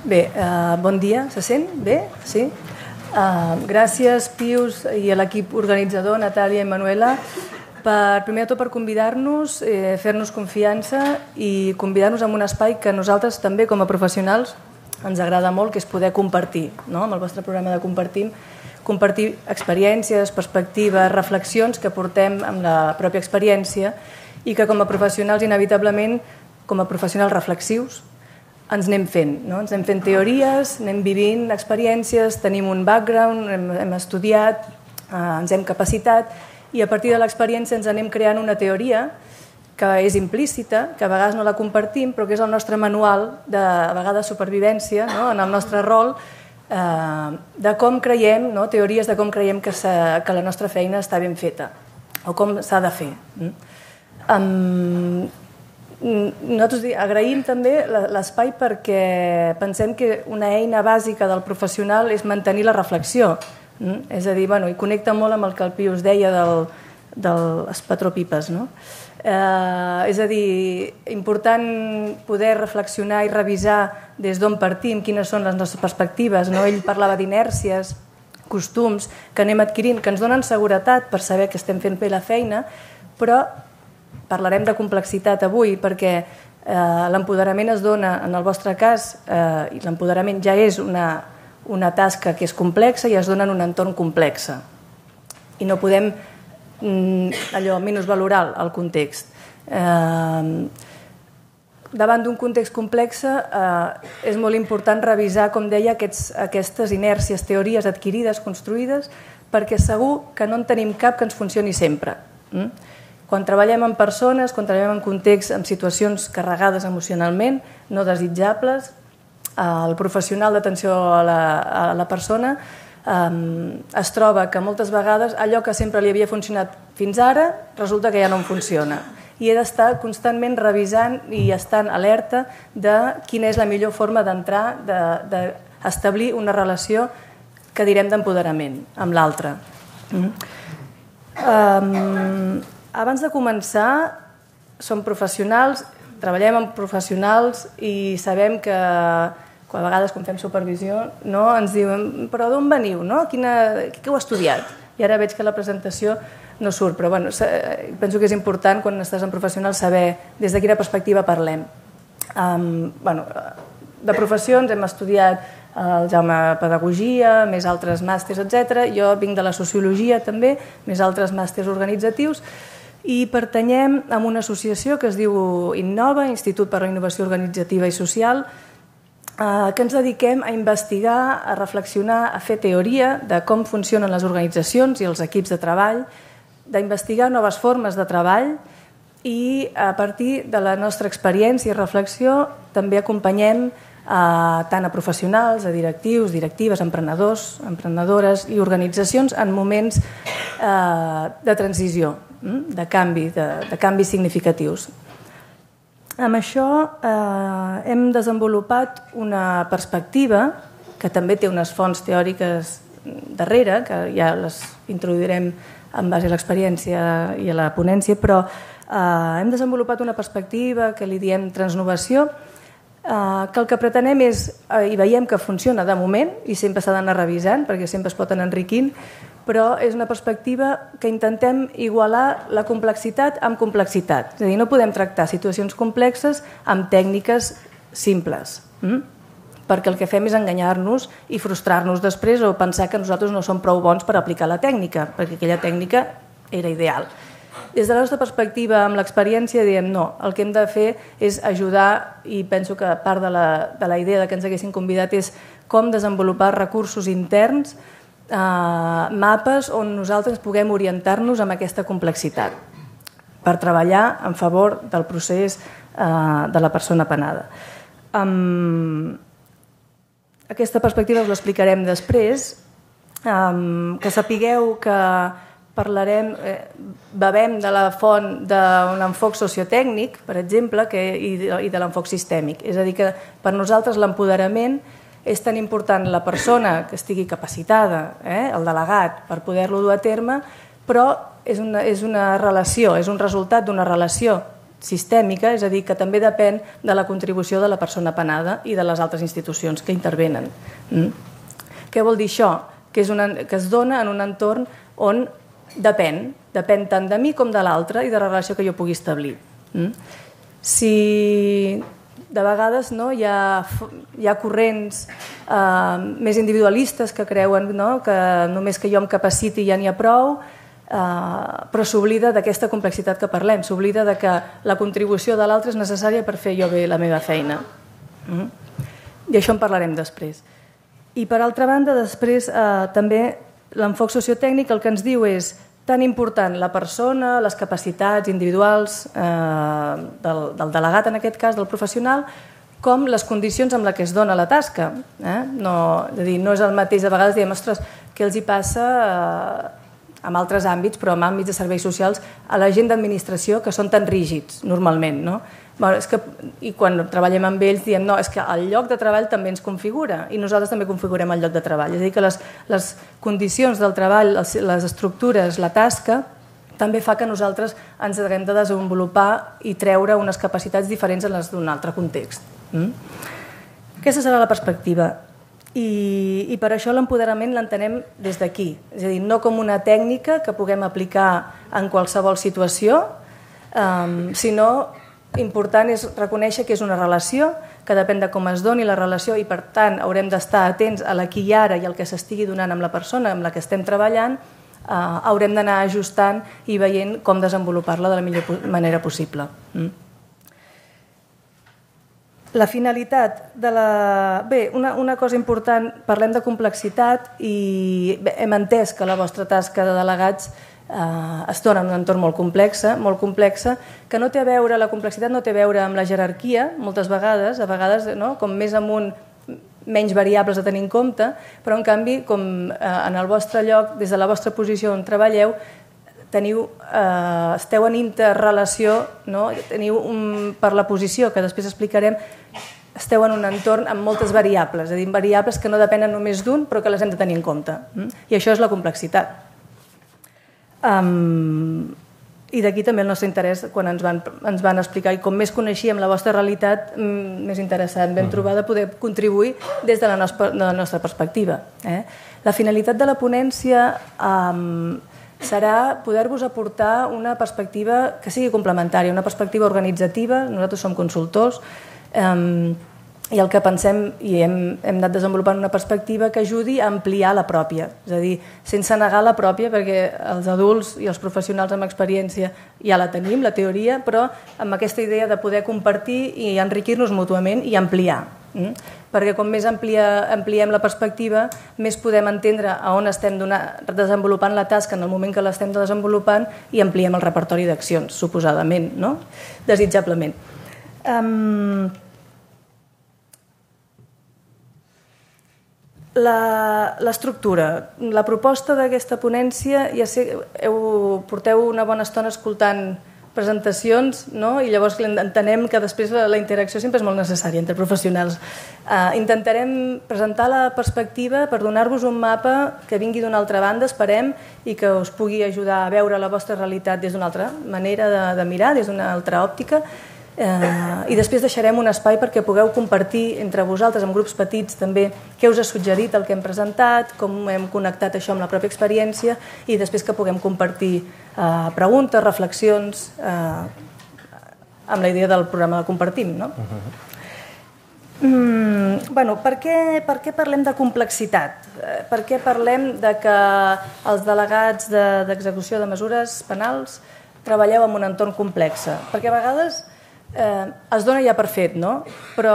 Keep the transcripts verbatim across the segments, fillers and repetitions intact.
Bé, uh, bon dia, se sent? Bé? Sí? Uh, gràcies, Pius, i a l'equip organitzador, Natàlia i Manuela, per, primer de tot per convidar-nos, eh, fer-nos confiança i convidar-nos a un espai que nosaltres també, com a professionals, ens agrada molt, que és poder compartir, no? Amb el vostre programa de Compartim, compartir experiències, perspectives, reflexions que portem amb la pròpia experiència i que com a professionals, inevitablement, com a professionals reflexius, ens anem fent, no? Ens anem fent teories, anem vivint experiències, tenim un background, hem, hem estudiat, eh, ens hem capacitat i a partir de l'experiència ens anem creant una teoria que és implícita, que a vegades no la compartim, però que és el nostre manual de, a vegades, supervivència, no? En el nostre rol, eh, de com creiem, no? Teories de com creiem que, que la nostra feina està ben feta o com s'ha de fer. Um, Nosaltres agraïm també l'espai perquè pensem que una eina bàsica del professional és mantenir la reflexió. És a dir, bueno, i connecta molt amb el que el Pius deia del, dels patropipes, no? Eh, és a dir, important poder reflexionar i revisar des d'on partim, quines són les nostres perspectives, no? Ell parlava d'inèrcies, costums que anem adquirint, que ens donen seguretat per saber que estem fent bé la feina, però parlarem de complexitat avui perquè eh, l'empoderament es dona, en el vostre cas, eh, i l'empoderament ja és una, una tasca que és complexa i es dona en un entorn complex. I no podem mm, allò minusvalorar el context. Eh, davant d'un context complex eh, és molt important revisar, com deia, aquests, aquestes inèrcies, teories adquirides, construïdes, perquè segur que no en tenim cap que ens funcioni sempre. Mm? Quan treballem amb persones, quan treballem en context, en situacions carregades emocionalment, no desitjables, el professional d'atenció a, la, a la persona eh, es troba que moltes vegades allò que sempre li havia funcionat fins ara resulta que ja no en funciona. I he d'estar constantment revisant i estant alerta de quina és la millor forma d'entrar, d'establir de, de una relació que direm d'empoderament amb l'altre. Mm. Um, Abans de començar, som professionals, treballem amb professionals i sabem que a vegades quan fem supervisió no, ens diuen però d'on veniu? No? Quina, què heu estudiat? I ara veig que la presentació no surt, però bueno, penso que és important quan estàs en professional saber des de quina perspectiva parlem. Um, bueno, de professions hem estudiat el Jaume Pedagogia, més altres màsters, etcètera. Jo vinc de la sociologia també, més altres màsters organitzatius, i pertanyem a una associació que es diu Innova, Institut per a la Innovació Organitzativa i Social, que ens dediquem a investigar, a reflexionar, a fer teoria de com funcionen les organitzacions i els equips de treball, d'investigar noves formes de treball i a partir de la nostra experiència i reflexió també acompanyem a, tant a professionals, a directius, directives, emprenedors, emprenedores i organitzacions en moments eh, de transició, de canvi, de, de canvis significatius. Amb això eh, hem desenvolupat una perspectiva que també té unes fonts teòriques darrere, que ja les introduirem en base a l'experiència i a la ponència, però eh, hem desenvolupat una perspectiva que li diem transnovació, eh, que el que pretenem és, eh, i veiem que funciona de moment, i sempre s'ha d'anar revisant, perquè sempre es pot anar enriquint, però és una perspectiva que intentem igualar la complexitat amb complexitat. És a dir, no podem tractar situacions complexes amb tècniques simples, hm? perquè el que fem és enganyar-nos i frustrar-nos després o pensar que nosaltres no som prou bons per aplicar la tècnica, perquè aquella tècnica era ideal. Des de la nostra perspectiva, amb l'experiència, diem no, el que hem de fer és ajudar, i penso que part de la, de la idea que ens haguessin convidat és com desenvolupar recursos interns, Uh, mapes on nosaltres puguem orientar-nos amb aquesta complexitat per treballar en favor del procés uh, de la persona penada. Um, aquesta perspectiva us l'explicarem després, um, que sapigueu que parlarem, eh, bevem de la font d'un enfoc sociotècnic, per exemple, que, i de, i de l'enfoc sistèmic. És a dir, que per nosaltres l'empoderament és tan important la persona que estigui capacitada, eh, el delegat, per poder-lo dur a terme, però és una, és una relació, és un resultat d'una relació sistèmica, és a dir, que també depèn de la contribució de la persona penada i de les altres institucions que intervenen. Mm? Què vol dir això? Que, és una, que es dona en un entorn on depèn, depèn tant de mi com de l'altre i de la relació que jo pugui establir. Mm? Si de vegades no, hi, ha, hi ha corrents eh, més individualistes que creuen no, que només que jo em capaciti ja n'hi ha prou, eh, però s'oblida d'aquesta complexitat que parlem, s'oblida de que la contribució de l'altre és necessària per fer jo bé la meva feina. Mm? I això en parlarem després. I per altra banda, després eh, també l'enfoc sociotècnic el que ens diu és tan important la persona, les capacitats individuals eh, del, del delegat, en aquest cas, del professional, com les condicions amb les que es dona la tasca. Eh? No, és a dir, no és el mateix, a vegades diem, ostres, què els hi passa eh, en altres àmbits, però en àmbits de serveis socials, a la gent d'administració que són tan rígids, normalment, no? Bueno, és que, i quan treballem amb ells diem no, és que el lloc de treball també ens configura i nosaltres també configurem el lloc de treball, és a dir que les, les condicions del treball, les, les estructures, la tasca també fa que nosaltres ens haguem de desenvolupar i treure unes capacitats diferents en les d'un altre context. Mm? Aquesta serà la perspectiva i, i per això l'empoderament l'entenem des d'aquí, és a dir, no com una tècnica que puguem aplicar en qualsevol situació, um, sinó important és reconèixer que és una relació, que depèn de com es doni la relació i per tant haurem d'estar atents a l'aquí i ara i al que s'estigui donant amb la persona amb la que estem treballant, eh, haurem d'anar ajustant i veient com desenvolupar-la de la millor manera possible. Mm. La finalitat de la... Bé, una, una cosa important, parlem de complexitat i bé, hem entès que la vostra tasca de delegats Uh, es dona en un entorn molt complexa, molt complexa, que no té a veure, la complexitat no té a veure amb la jerarquia, moltes vegades, a vegades, no? Com més amunt, menys variables a tenir en compte, però en canvi, com uh, en el vostre lloc, des de la vostra posició on treballeu, teniu, uh, esteu en interrelació, no? Teniu un, per la posició, que després explicarem, esteu en un entorn amb moltes variables, és a dir, variables que no depenen només d'un, però que les hem de tenir en compte. Mm? I això és la complexitat. Um, I d'aquí també el nostre interès quan ens van, ens van explicar i com més coneixíem la vostra realitat, més interessant vam trobar de poder contribuir des de la nostra, de la nostra perspectiva. Eh? La finalitat de la ponència um, serà poder-vos aportar una perspectiva que sigui complementària, una perspectiva organitzativa, nosaltres som consultors, um, i el que pensem i hem, hem anat desenvolupant una perspectiva que ajudi a ampliar la pròpia, és a dir, sense negar la pròpia, perquè els adults i els professionals amb experiència ja la tenim, la teoria, però amb aquesta idea de poder compartir i enriquir-nos mútuament i ampliar. Mm? Perquè com més amplia, ampliem la perspectiva, més podem entendre a on estem donar, desenvolupant la tasca en el moment que l'estem desenvolupant i ampliem el repertori d'accions, suposadament, no? Desitjablement. Um, L'estructura, la proposta d'aquesta ponència, ja sé, heu, porteu una bona estona escoltant presentacions, no? I llavors entenem que després la, la interacció sempre és molt necessària entre professionals. Uh, intentarem presentar la perspectiva per donar-vos un mapa que vingui d'una altra banda, esperem, i que us pugui ajudar a veure la vostra realitat des d'una altra manera de, de mirar, des d'una altra òptica. Eh, i després deixarem un espai perquè pugueu compartir entre vosaltres, en grups petits també, què us ha suggerit el que hem presentat, com hem connectat això amb la pròpia experiència i després que puguem compartir eh, preguntes, reflexions eh, amb la idea del programa de Compartim, no? Uh-huh. mm, bueno, per què, per què parlem de complexitat? Eh, per què parlem de que els delegats de, d'execució de mesures penals treballeu en un entorn complex? Perquè a vegades Eh, es dona ja per fet, no? Però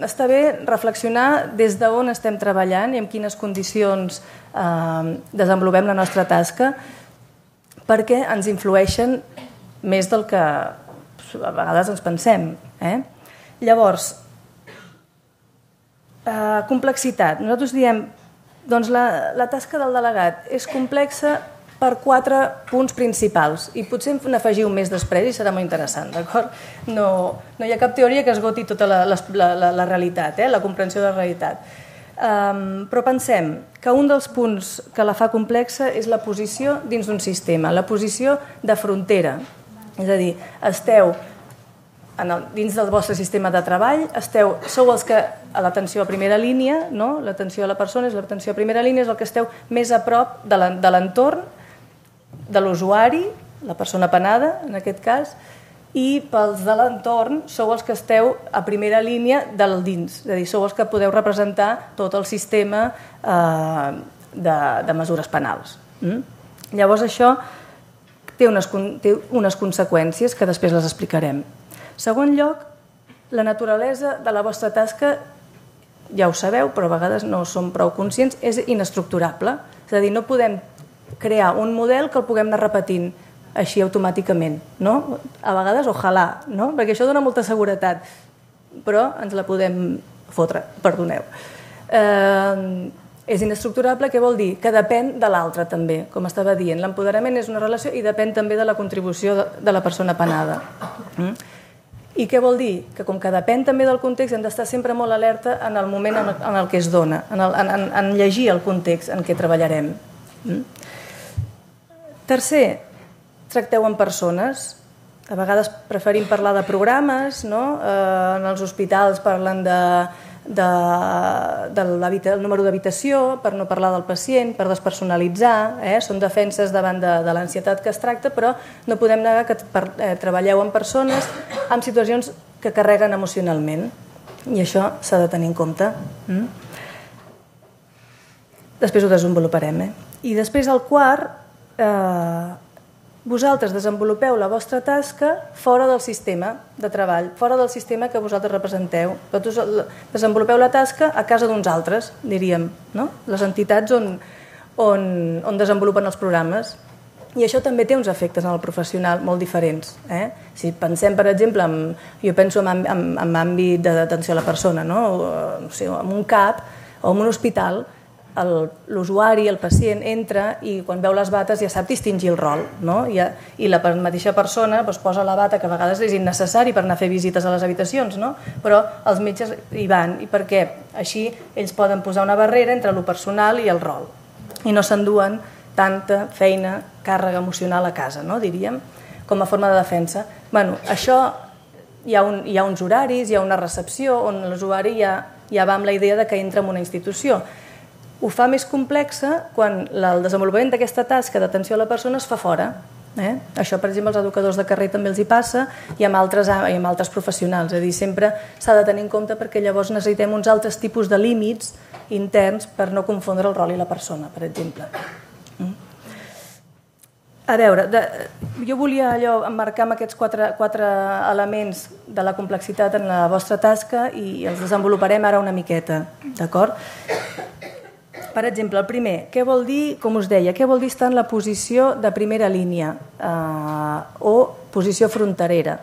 està bé reflexionar des d'on estem treballant i en quines condicions eh, desenvolupem la nostra tasca perquè ens influeixen més del que a vegades ens pensem. Eh? Llavors, eh, complexitat. Nosaltres diem doncs la, la tasca del delegat és complexa per quatre punts principals i potser n'afegiu més després i serà molt interessant, d'acord? No, no hi ha cap teoria que esgoti tota la, la, la, la realitat, eh? La comprensió de la realitat. Um, però pensem que un dels punts que la fa complexa és la posició dins d'un sistema, la posició de frontera. És a dir, esteu en el, dins del vostre sistema de treball, esteu, sou els que a l'atenció a primera línia, no? L'atenció a la persona és l'atenció a primera línia, és el que esteu més a prop de l'entorn, de l'usuari, la persona penada, en aquest cas, i pels de l'entorn sou els que esteu a primera línia del dins, és a dir, sou els que podeu representar tot el sistema eh, de, de mesures penals. Mm? Llavors això té unes, té unes conseqüències que després les explicarem. Segon lloc, la naturalesa de la vostra tasca, ja ho sabeu, però a vegades no som prou conscients, és inestructurable. És a dir, no podem crear un model que el puguem anar repetint així automàticament, no? A vegades, ojalà, no? Perquè això dona molta seguretat, però ens la podem fotre, perdoneu. Eh, és inestructurable, què vol dir? Que depèn de l'altre també, com estava dient. L'empoderament és una relació i depèn també de la contribució de, de la persona penada. Mm? I què vol dir? Que com que depèn també del context hem d'estar sempre molt alerta en el moment en el, en el que es dona, en, el, en, en llegir el context en què treballarem. Mm? Tercer, tracteu amb persones. A vegades preferim parlar de programes, no? Eh, en els hospitals parlen de, de, del número d'habitació, per no parlar del pacient, per despersonalitzar, eh? Són defenses davant de, de l'ansietat que es tracta, però no podem negar que per, eh, treballeu amb persones en situacions que carreguen emocionalment, i això s'ha de tenir en compte. Mm? Després ho desenvoluparem. Eh? I després el quart, eh, vosaltres desenvolupeu la vostra tasca fora del sistema de treball, fora del sistema que vosaltres representeu. Vosaltres desenvolupeu la tasca a casa d'uns altres, diríem, no? Les entitats on, on, on desenvolupen els programes. I això també té uns efectes en el professional molt diferents. Eh? Si pensem, per exemple, en, jo penso en, en, en àmbit d'atenció a la persona, no? O, no sé, en un CAP o en un hospital, l'usuari, el pacient, entra i quan veu les bates ja sap distingir el rol, no? I, i la mateixa persona doncs, posa la bata, que a vegades és innecessari per anar a fer visites a les habitacions, no? Però els metges hi van, i perquè així ells poden posar una barrera entre el personal i el rol, i no s'enduen tanta feina, càrrega emocional a casa, no? Diríem, com a forma de defensa. Bueno, això hi ha, un, hi ha uns horaris, hi ha una recepció on l'usuari ja, ja va amb la idea de que entra en una institució. Ho fa més complexa quan el desenvolupament d'aquesta tasca d'atenció a la persona es fa fora. Eh? Això, per exemple, als educadors de carrer també els hi passa i amb altres, i amb altres professionals. És a dir, sempre s'ha de tenir en compte perquè llavors necessitem uns altres tipus de límits interns per no confondre el rol i la persona, per exemple. Mm? A veure, de, jo volia allò emmarcar amb aquests quatre, quatre elements de la complexitat en la vostra tasca i els desenvoluparem ara una miqueta, d'acord? Per exemple, el primer, què vol dir, com us deia, què vol dir estar en la posició de primera línia eh, o posició fronterera?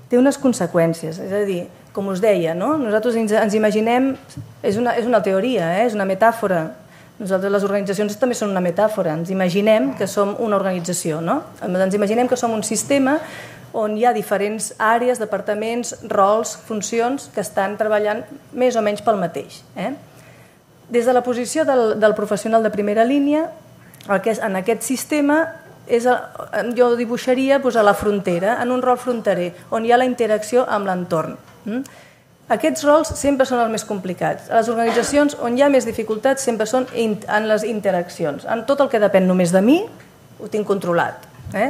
Té unes conseqüències, és a dir, com us deia, no? Nosaltres ens, ens imaginem, és una, és una teoria, eh? És una metàfora. Nosaltres, les organitzacions també són una metàfora, ens imaginem que som una organització, no? Ens imaginem que som un sistema on hi ha diferents àrees, departaments, rols, funcions que estan treballant més o menys pel mateix, eh? Des de la posició del, del professional de primera línia, el que és, en aquest sistema, és el, jo dibuixaria doncs, a la frontera, en un rol fronterer, on hi ha la interacció amb l'entorn. Mm? Aquests rols sempre són els més complicats. A les organitzacions on hi ha més dificultats sempre són in, en les interaccions. En tot el que depèn només de mi, ho tinc controlat. Eh?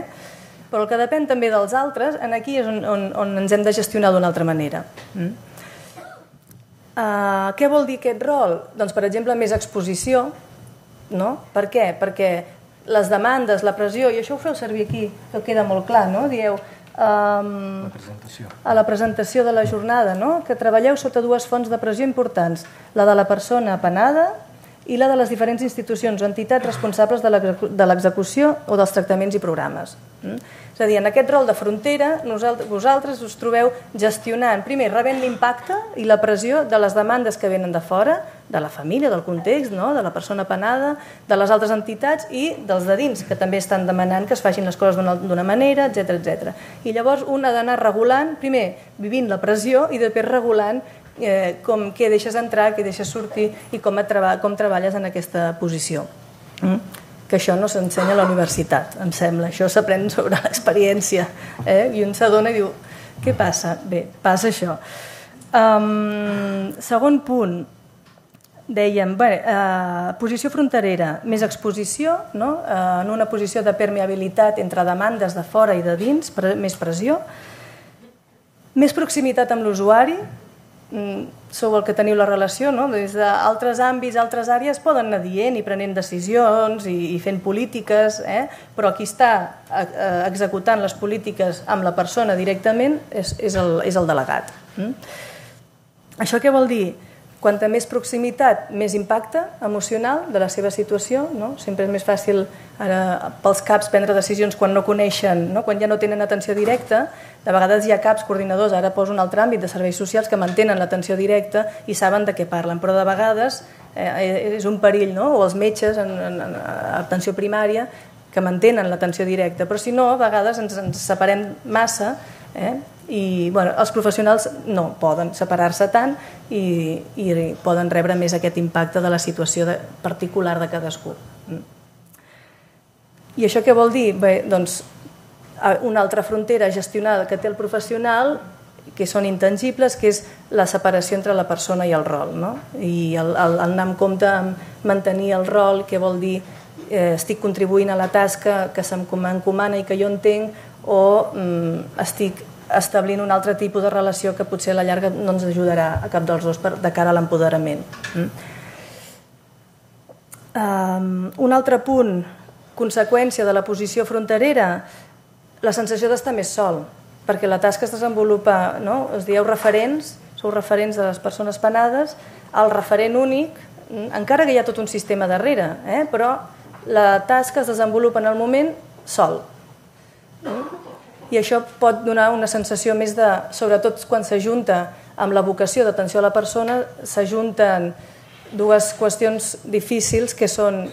Però el que depèn també dels altres, aquí és on, on, on ens hem de gestionar d'una altra manera. Mm? Uh, què vol dir aquest rol? Doncs, per exemple, més exposició. No? Per què? Perquè les demandes, la pressió, i això ho feu servir aquí, que queda molt clar, no? Dieu, um, la presentació. A la presentació de la jornada, no? Que treballeu sota dues fonts de pressió importants, la de la persona penada i la de les diferents institucions o entitats responsables de l'execució o dels tractaments i programes. Mm? És a dir, en aquest rol de frontera, vosaltres us trobeu gestionant, primer, rebent l'impacte i la pressió de les demandes que venen de fora, de la família, del context, no? De la persona penada, de les altres entitats i dels de dins, que també estan demanant que es facin les coses d'una manera, etcètera, etcètera. I llavors un ha d'anar regulant, primer, vivint la pressió i després regulant eh, com què deixes entrar, què deixes sortir i com, et treba, com treballes en aquesta posició. Mm? que això no s'ensenya a la universitat, em sembla. Això s'aprèn sobre l'experiència. Eh? I un s'adona i diu, què passa? Bé, passa això. Um, segon punt, dèiem, bé, eh, posició fronterera, més exposició, no? eh, en una posició de permeabilitat entre demandes de fora i de dins, pre més pressió, més proximitat amb l'usuari, sou el que teniu la relació, no? Des d'altres àmbits, altres àrees poden anar dient i prenent decisions i, i fent polítiques, eh? Però qui està eh, executant les polítiques amb la persona directament és, és, el, és el delegat. Mm? Això què vol dir? Quanta més proximitat, més impacte emocional de la seva situació, no? Sempre és més fàcil ara, pels caps prendre decisions quan no coneixen, no? Quan ja no tenen atenció directa. De vegades hi ha caps coordinadors, ara poso un altre àmbit de serveis socials, que mantenen l'atenció directa i saben de què parlen, però de vegades eh, és un perill, no? O els metges en, en, en atenció primària que mantenen l'atenció directa, però si no, a vegades ens, ens separem massa, eh? I bueno, els professionals no poden separar-se tant i, i poden rebre més aquest impacte de la situació de, particular de cadascú. I això què vol dir? Bé, doncs, una altra frontera gestionada que té el professional, que són intangibles, que és la separació entre la persona i el rol, no? I el, el, el anar en compte amb mantenir el rol, que vol dir eh, estic contribuint a la tasca que m'encomana i que jo entenc, o mm, estic establint un altre tipus de relació que potser a la llarga no ens ajudarà a cap dels dos per, de cara a l'empoderament. Mm? Um, un altre punt, conseqüència de la posició fronterera, la sensació d'estar més sol, perquè la tasca es desenvolupa, no? Es dieu referents, sou referents de les persones penades, el referent únic, encara que hi ha tot un sistema darrere, eh? Però la tasca es desenvolupa en el moment sol. Mm? I això pot donar una sensació més de, sobretot quan s'ajunta amb la vocació d'atenció a la persona, s'ajunten dues qüestions difícils que són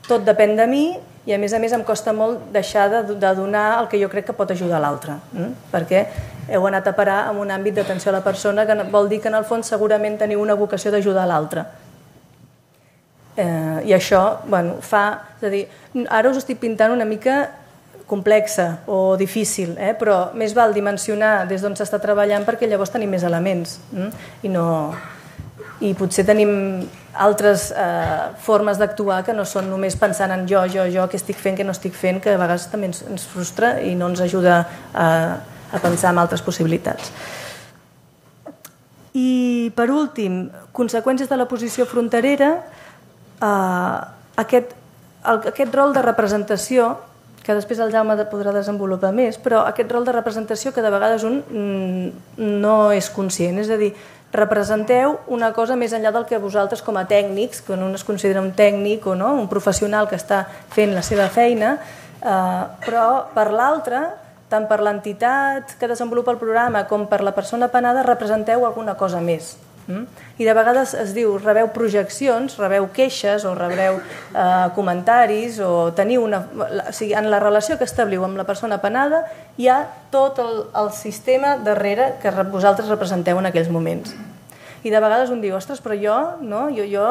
tot depèn de mi i a més a més em costa molt deixar de, de donar el que jo crec que pot ajudar l'altre, eh? Perquè heu anat a parar en un àmbit d'atenció a la persona que vol dir que en el fons segurament teniu una vocació d'ajudar l'altre. Eh, I això, bueno, fa... És a dir, ara us estic pintant una mica complexa o difícil, eh? Però més val dimensionar des d'on s'està treballant perquè llavors tenim més elements eh? I, no... I potser tenim altres eh, formes d'actuar que no són només pensant en jo, jo, jo, què estic fent, què no estic fent, que a vegades també ens, ens frustra i no ens ajuda a, a pensar en altres possibilitats. I per últim, conseqüències de la posició fronterera, eh, aquest, el, aquest rol de representació que després el Jaume podrà desenvolupar més, però aquest rol de representació que de vegades un no és conscient, és a dir, representeu una cosa més enllà del que vosaltres com a tècnics, quan un es considera un tècnic o no, un professional que està fent la seva feina, eh, però per l'altre, tant per l'entitat que desenvolupa el programa com per la persona penada, representeu alguna cosa més. I de vegades es diu, rebeu projeccions, rebeu queixes o rebeu eh, comentaris o teniu una... O sigui, en la relació que establiu amb la persona penada hi ha tot el, el sistema darrere que vosaltres representeu en aquells moments. I de vegades un diu, ostres, però jo, no, jo, jo,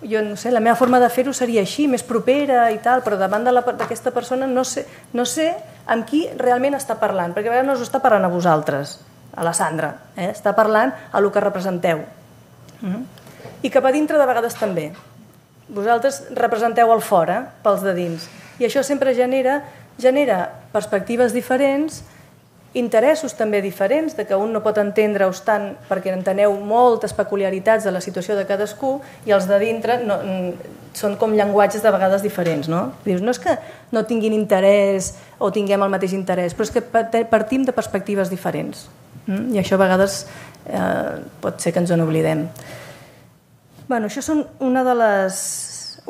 jo no sé, la meva forma de fer-ho seria així, més propera i tal, però davant d'aquesta persona no sé, no sé amb qui realment està parlant, perquè a vegades no us està parlant a vosaltres, a la Sandra, eh? Està parlant a el que representeu. Mm-hmm. I cap a dintre de vegades també. Vosaltres representeu el fora, pels de dins. I això sempre genera, genera perspectives diferents, interessos també diferents, de que un no pot entendre-us tant perquè enteneu moltes peculiaritats de la situació de cadascú i els de dintre no, són com llenguatges de vegades diferents. No? Dius, no és que no tinguin interès o tinguem el mateix interès, però és que partim de perspectives diferents. I això a vegades eh, pot ser que ens en oblidem. Bueno, això són una de les,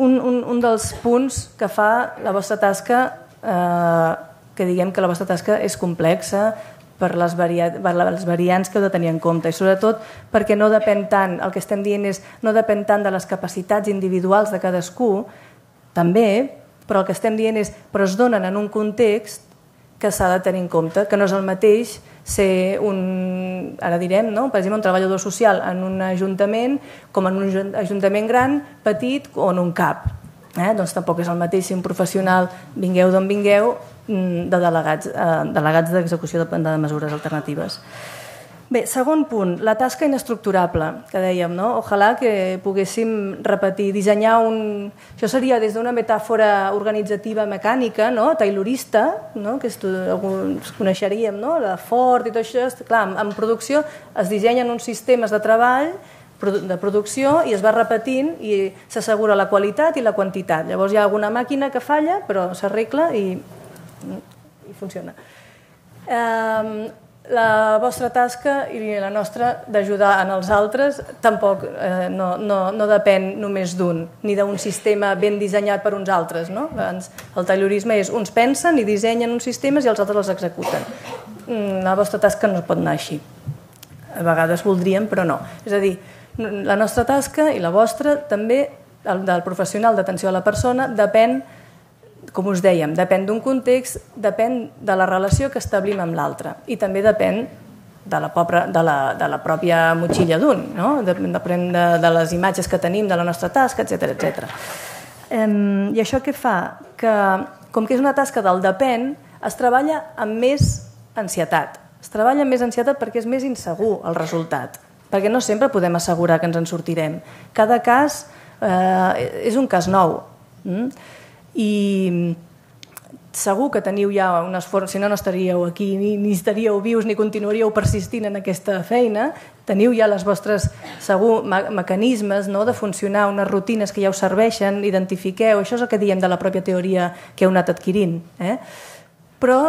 un, un, un dels punts que fa la vostra tasca, eh, que diguem que la vostra tasca és complexa per les, varia, per les variants que heu de tenir en compte i sobretot perquè no depèn tant, el que estem dient és no depèn tant de les capacitats individuals de cadascú, també, però el que estem dient és però es donen en un context que s'ha de tenir en compte, que no és el mateix ser un, ara direm, no? Per exemple, un treballador social en un ajuntament com en un ajuntament gran, petit o en un C A P. Eh? Doncs tampoc és el mateix si un professional, vingueu d'on vingueu, de delegats, eh, delegats d'execució de, de mesures alternatives. Bé, segon punt, la tasca inestructurable, que dèiem, no? Ojalà que poguéssim repetir, dissenyar un... Això seria des d'una metàfora organitzativa mecànica, no? Taylorista, no? Que estu... alguns coneixeríem, no? La Ford i tot això. Clar, en producció es dissenyen uns sistemes de treball de producció i es va repetint i s'assegura la qualitat i la quantitat. Llavors hi ha alguna màquina que falla, però s'arregla i, i funciona. Eh, la vostra tasca i la nostra d'ajudar en els altres tampoc eh, no, no, no depèn només d'un, ni d'un sistema ben dissenyat per uns altres. No? El taylorisme és uns pensen i dissenyen uns sistemes i els altres els executen. La vostra tasca no pot anar així. A vegades voldríem, però no. És a dir, la nostra tasca i la vostra també, el del professional d'atenció a la persona, depèn, com us dèiem, depèn d'un context, depèn de la relació que establim amb l'altre i també depèn de la, pobra, de la, de la pròpia motxilla d'un, no? Depèn de, de les imatges que tenim de la nostra tasca, etcètera, etcètera. Um, I això què fa? Que, com que és una tasca del depèn, es treballa amb més ansietat. Es treballa amb més ansietat perquè és més insegur el resultat, perquè no sempre podem assegurar que ens en sortirem. Cada cas eh, és un cas nou. Mm? I segur que teniu ja un esforç, si no, no estaríeu aquí, ni, ni estaríeu vius, ni continuaríeu persistint en aquesta feina. Teniu ja les vostres, segur, me mecanismes, no?, de funcionar, unes rutines que ja us serveixen, identifiqueu, això és el que diem de la pròpia teoria que heu anat adquirint. Eh? Però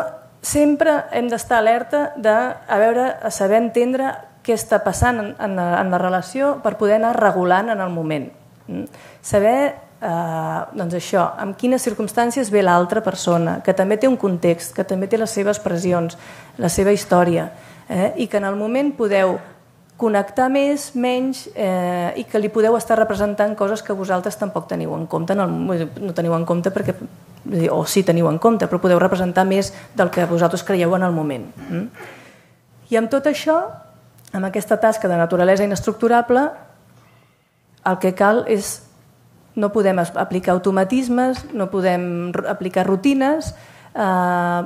sempre hem d'estar alerta de, a veure, a saber entendre què està passant en, en, en la relació per poder anar regulant en el moment. Mm? Saber, eh, doncs això, en quines circumstàncies ve l'altra persona, que també té un context, que també té les seves pressions, la seva història, eh? I que en el moment podeu connectar més, menys, eh, i que li podeu estar representant coses que vosaltres tampoc teniu en compte, en el, no teniu en compte perquè, o sí teniu en compte, però podeu representar més del que vosaltres creieu en el moment. Mm? I amb tot això, amb aquesta tasca de naturalesa inestructurable, el que cal és, no podem aplicar automatismes, no podem aplicar rutines, eh,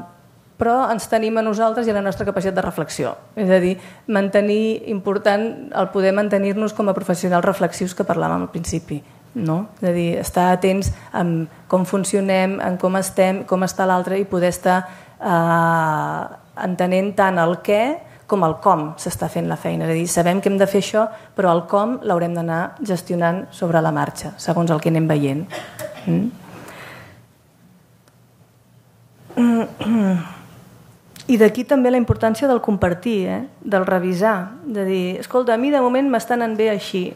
però ens tenim a nosaltres i a la nostra capacitat de reflexió. És a dir, mantenir important el poder mantenir-nos com a professionals reflexius que parlàvem al principi. No? És a dir, estar atents en com funcionem, en com estem, com està l'altre i poder estar eh, entenent tant el què com el com s'està fent la feina. És a dir, sabem que hem de fer això, però el com l'haurem d'anar gestionant sobre la marxa, segons el que anem veient. Mm? I d'aquí també la importància del compartir, eh? Del revisar, de dir, escolta, a mi de moment m'estan anant bé així,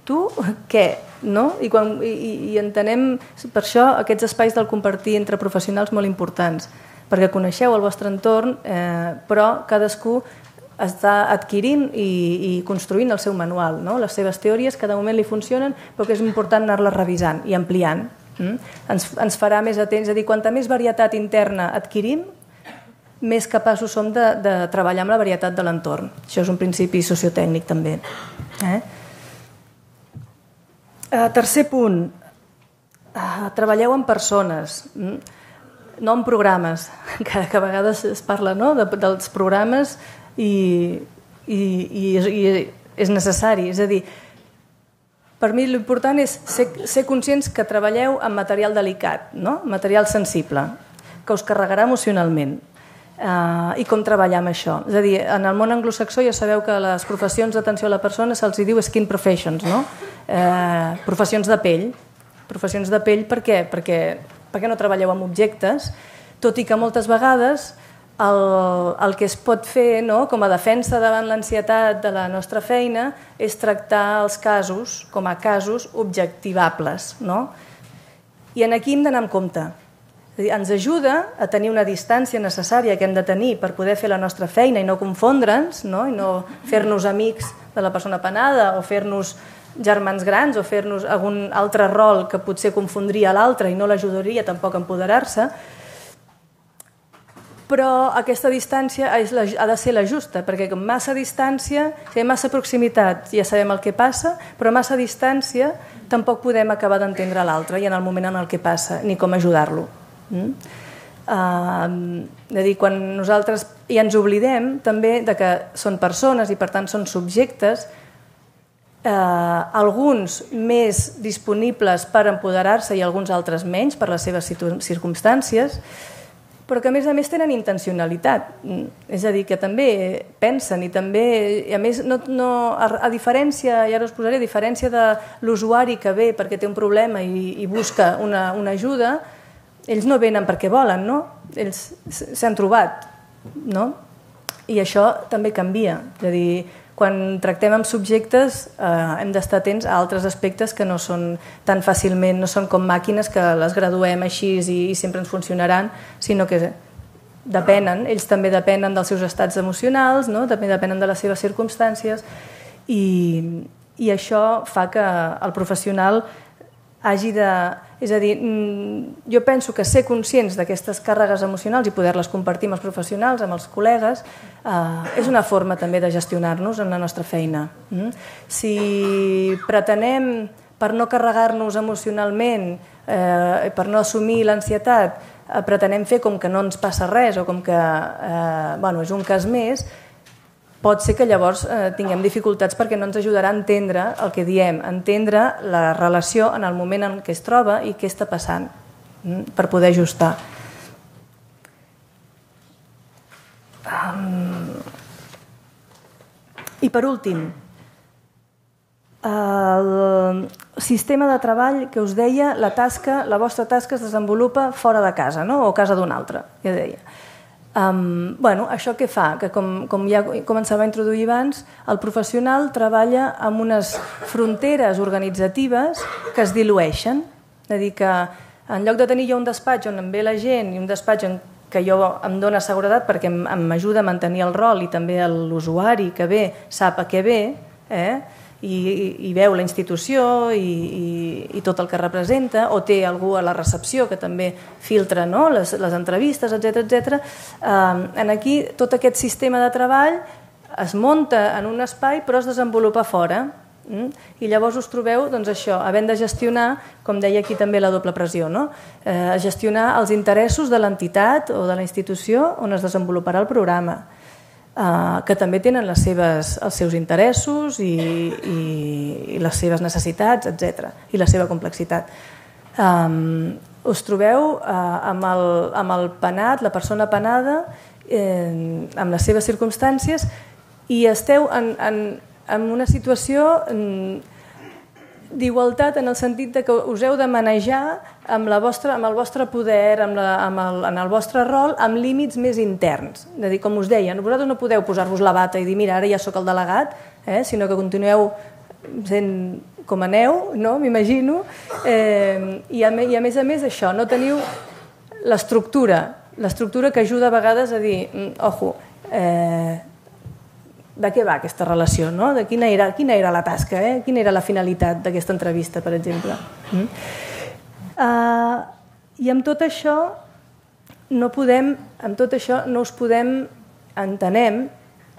tu què? No? I, quan, i, i entenem per això aquests espais del compartir entre professionals molt importants, perquè coneixeu el vostre entorn, eh, però cadascú està adquirint i, i construint el seu manual, no? Les seves teories cada moment li funcionen, però que és important anar-les revisant i ampliant. Mm? Ens, ens farà més atents, és a dir, quanta més varietat interna adquirim, més capaços som de, de treballar amb la varietat de l'entorn. Això és un principi sociotècnic també. Eh? Uh, tercer punt, uh, treballeu amb persones, mm? No en programes, que, que a vegades es parla, no?, de, dels programes i, i, i, i és necessari. És a dir, per mi l'important és ser, ser conscients que treballeu amb material delicat, no? Material sensible, que us carregarà emocionalment. Uh, I com treballar amb això. És a dir, en el món anglosaxó ja sabeu que les professions d'atenció a la persona se'ls diu skin professions, no? Uh, professions de pell. Professions de pell per què? Perquè, perquè no treballeu amb objectes, tot i que moltes vegades el, el que es pot fer, no, com a defensa davant l'ansietat de la nostra feina és tractar els casos com a casos objectivables. No? I en aquí hem d'anar amb compte. És a dir, ens ajuda a tenir una distància necessària que hem de tenir per poder fer la nostra feina i no confondre'ns, no? I no fer-nos amics de la persona penada o fer-nos germans grans o fer-nos algun altre rol que potser confondria l'altre i no l'ajudaria tampoc a empoderar-se. però aquesta distància ha de ser la justa, perquè com massa distància, si hi ha massa proximitat ja sabem el que passa, però massa distància tampoc podem acabar d'entendre l'altre i en el moment en el que passa, ni com ajudar-lo. Mm? Uh, de dir, quan nosaltres ja ens oblidem també de que són persones i per tant són subjectes, uh, alguns més disponibles per empoderar-se i alguns altres menys per les seves circumstàncies, però que a més a més tenen intencionalitat, és a dir, que també pensen i també, i a més, no, no, a, a diferència, i ara us posaré, a diferència de l'usuari que ve perquè té un problema i, i busca una, una ajuda, ells no venen perquè volen, no? Ells s'han trobat, no? I això també canvia. És a dir, quan tractem amb subjectes eh, hem d'estar atents a altres aspectes que no són tan fàcilment, no són com màquines que les graduem així i, i sempre ens funcionaran, sinó que depenen, ells també depenen dels seus estats emocionals, no? També depenen de les seves circumstàncies i, i això fa que el professional hagi de... És a dir, jo penso que ser conscients d'aquestes càrregues emocionals i poder-les compartir amb els professionals, amb els col·legues, eh, és una forma també de gestionar-nos en la nostra feina. Mm? Si pretenem, per no carregar-nos emocionalment, eh, per no assumir l'ansietat, eh, pretenem fer com que no ens passa res o com que eh, bueno, és un cas més, pot ser que llavors eh, tinguem dificultats perquè no ens ajudarà a entendre el que diem, a entendre la relació en el moment en què es troba i què està passant, mm, per poder ajustar. Um, I per últim, el sistema de treball que us deia, la tasca, la vostra tasca es desenvolupa fora de casa, no? O a casa d'un altre, ja deia. Um, bueno, això què fa? Que com, com ja començava a introduir abans, el professional treballa amb unes fronteres organitzatives que es dilueixen. És a dir, que en lloc de tenir jo un despatx on em ve la gent i un despatx en que jo em dóna seguretat perquè m'ajuda a mantenir el rol i també l'usuari que ve sap a què ve, eh? I, i, i veu la institució i, i, i tot el que representa, o té algú a la recepció que també filtra, no? les, les entrevistes, etcètera etcètera. Eh, en aquí tot aquest sistema de treball es munta en un espai però es desenvolupa fora. Mm? I llavors us trobeu doncs, això, havent de gestionar, com deia aquí també la doble pressió, no? eh, gestionar els interessos de l'entitat o de la institució on es desenvoluparà el programa. Uh, que també tenen les seves, els seus interessos i, i, i les seves necessitats, etcètera, i la seva complexitat. Um, us trobeu uh, amb, el, amb el penat, la persona penada, eh, amb les seves circumstàncies, i esteu en, en, en una situació d'igualtat en el sentit de que us heu de manejar amb, la vostra, amb el vostre poder, amb la, amb el, en el vostre rol, amb límits més interns. És a dir, com us deia, vosaltres no podeu posar-vos la bata i dir mira, ara ja sóc el delegat, eh? Sinó que continueu sent com aneu, no? M'imagino, eh, i, a, i a més a més això, no teniu l'estructura, l'estructura que ajuda a vegades a dir, ojo, eh, de què va aquesta relació, no? De quina era, quina era la tasca, eh? Quina era la finalitat d'aquesta entrevista, per exemple. Mm? Uh, I amb tot això no podem, amb tot això no us podem, entenem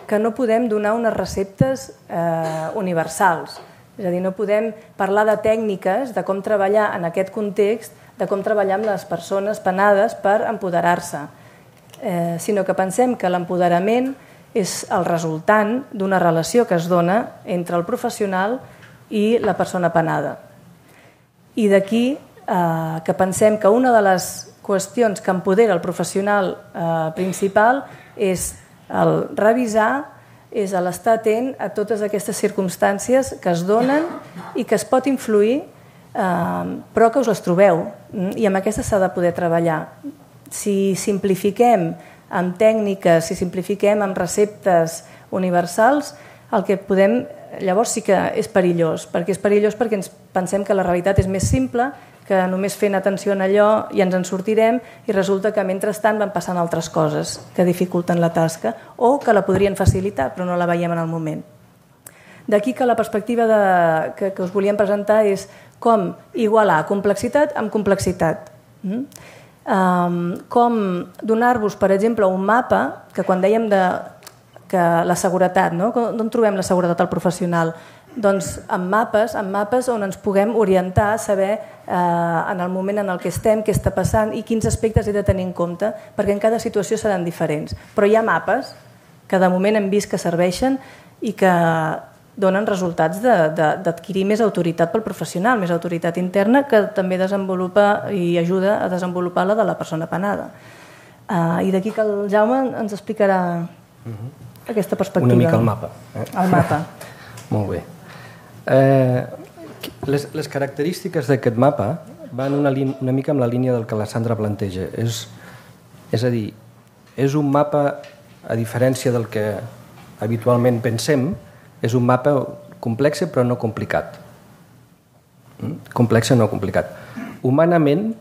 que no podem donar unes receptes eh, universals. És a dir, no podem parlar de tècniques, de com treballar en aquest context, de com treballar amb les persones penades per empoderar-se, eh, sinó que pensem que l'empoderament és el resultant d'una relació que es dona entre el professional i la persona penada. I d'aquí eh, que pensem que una de les qüestions que empodera el professional eh, principal és el revisar, és l'estar atent a totes aquestes circumstàncies que es donen i que es pot influir, eh, però que us les trobeu. I amb aquestes s'ha de poder treballar. Si simplifiquem amb tècniques, si simplifiquem amb receptes universals, el que podem, llavors sí que és perillós, perquè és perillós perquè ens pensem que la realitat és més simple, que només fent atenció en allò i ens en sortirem, i resulta que mentrestant van passant altres coses que dificulten la tasca o que la podrien facilitar però no la veiem en el moment. D'aquí que la perspectiva de, que, que us volíem presentar és com igualar complexitat amb complexitat. Mm? com donar-vos, per exemple, un mapa, que quan dèiem de, que la seguretat, no? D'on trobem la seguretat al professional? Doncs amb mapes, amb mapes on ens puguem orientar, saber eh, en el moment en el que estem, què està passant i quins aspectes he de tenir en compte, perquè en cada situació seran diferents. Però hi ha mapes que de moment hem vist que serveixen i que donen resultats d'adquirir més autoritat pel professional, més autoritat interna, que també desenvolupa i ajuda a desenvolupar la de la persona penada. Uh, I d'aquí que el Jaume ens explicarà uh-huh. aquesta perspectiva. Una mica el mapa. Eh? El mapa. Molt bé. Eh, les, les característiques d'aquest mapa van una, una mica amb la línia del que la Sandra planteja. És, és a dir, és un mapa, a diferència del que habitualment pensem, és un mapa complex però no complicat. Complex no complicat. Humanament,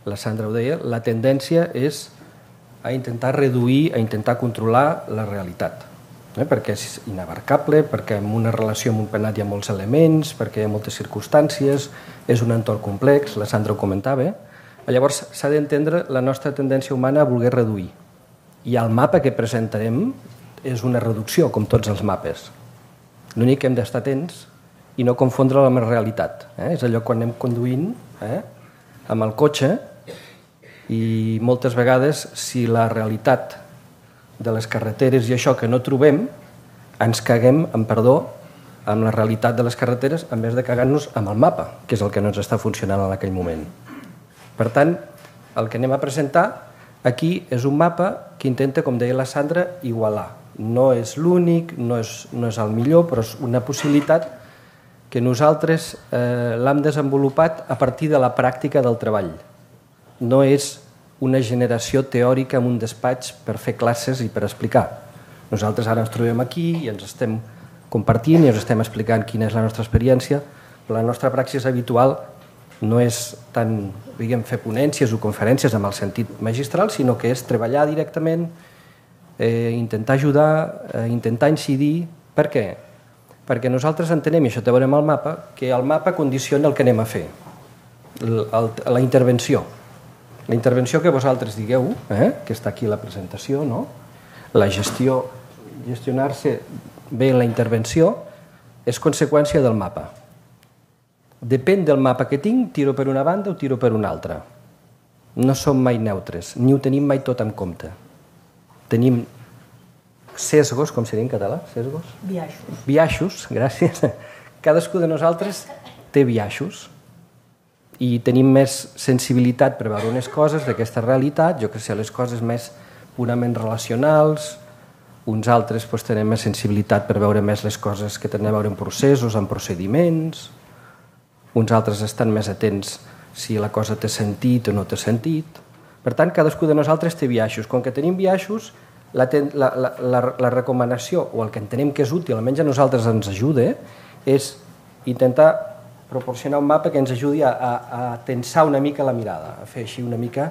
la Sandra ho deia, la tendència és a intentar reduir, a intentar controlar la realitat. Eh? Perquè és inabarcable, perquè en una relació amb un penat hi ha molts elements, perquè hi ha moltes circumstàncies, és un entorn complex, la Sandra ho comentava. Llavors s'ha d'entendre la nostra tendència humana a voler reduir. I el mapa que presentarem és una reducció, com tots els mapes. L'únic que hem d'estar atents i no confondre-la amb la realitat. Eh? És allò quan anem conduint eh? amb el cotxe i moltes vegades si la realitat de les carreteres i això que no trobem, ens caguem, amb perdó, amb la realitat de les carreteres en vez de cagar-nos amb el mapa, que és el que no ens està funcionant en aquell moment. Per tant, el que anem a presentar aquí és un mapa que intenta, com deia la Sandra, igualar. No és l'únic, no és, no és el millor, però és una possibilitat que nosaltres eh, l'hem desenvolupat a partir de la pràctica del treball. No és una generació teòrica en un despatx per fer classes i per explicar. Nosaltres ara ens trobem aquí i ens estem compartint i ens estem explicant quina és la nostra experiència, però la nostra praxis habitual no és tant, diguem, fer ponències o conferències amb el sentit magistral, sinó que és treballar directament, Eh, intentar ajudar, eh, intentar incidir. Per què? Perquè nosaltres entenem, i això te veurem al mapa, que el mapa condiciona el que anem a fer, el, el, la intervenció. La intervenció que vosaltres digueu, eh, que està aquí la presentació, no? La gestió, gestionar-se bé la intervenció, és conseqüència del mapa. Depèn del mapa que tinc, tiro per una banda o tiro per una altra. No som mai neutres, ni ho tenim mai tot en compte. Tenim sesgos, com seria en català? Sesgos? Biaixos. Biaixos, gràcies. Cadascú de nosaltres té biaixos i tenim més sensibilitat per veure unes coses d'aquesta realitat, jo que sé, les coses més purament relacionals, uns altres doncs, tenen més sensibilitat per veure més les coses que tenen a veure en processos, en procediments, uns altres estan més atents si la cosa té sentit o no té sentit. Per tant, cadascú de nosaltres té biaixos. Com que tenim biaixos, la, la, la, la recomanació, o el que entenem que és útil, almenys a nosaltres ens ajuda, és intentar proporcionar un mapa que ens ajudi a, a, a tensar una mica la mirada, a fer així una mica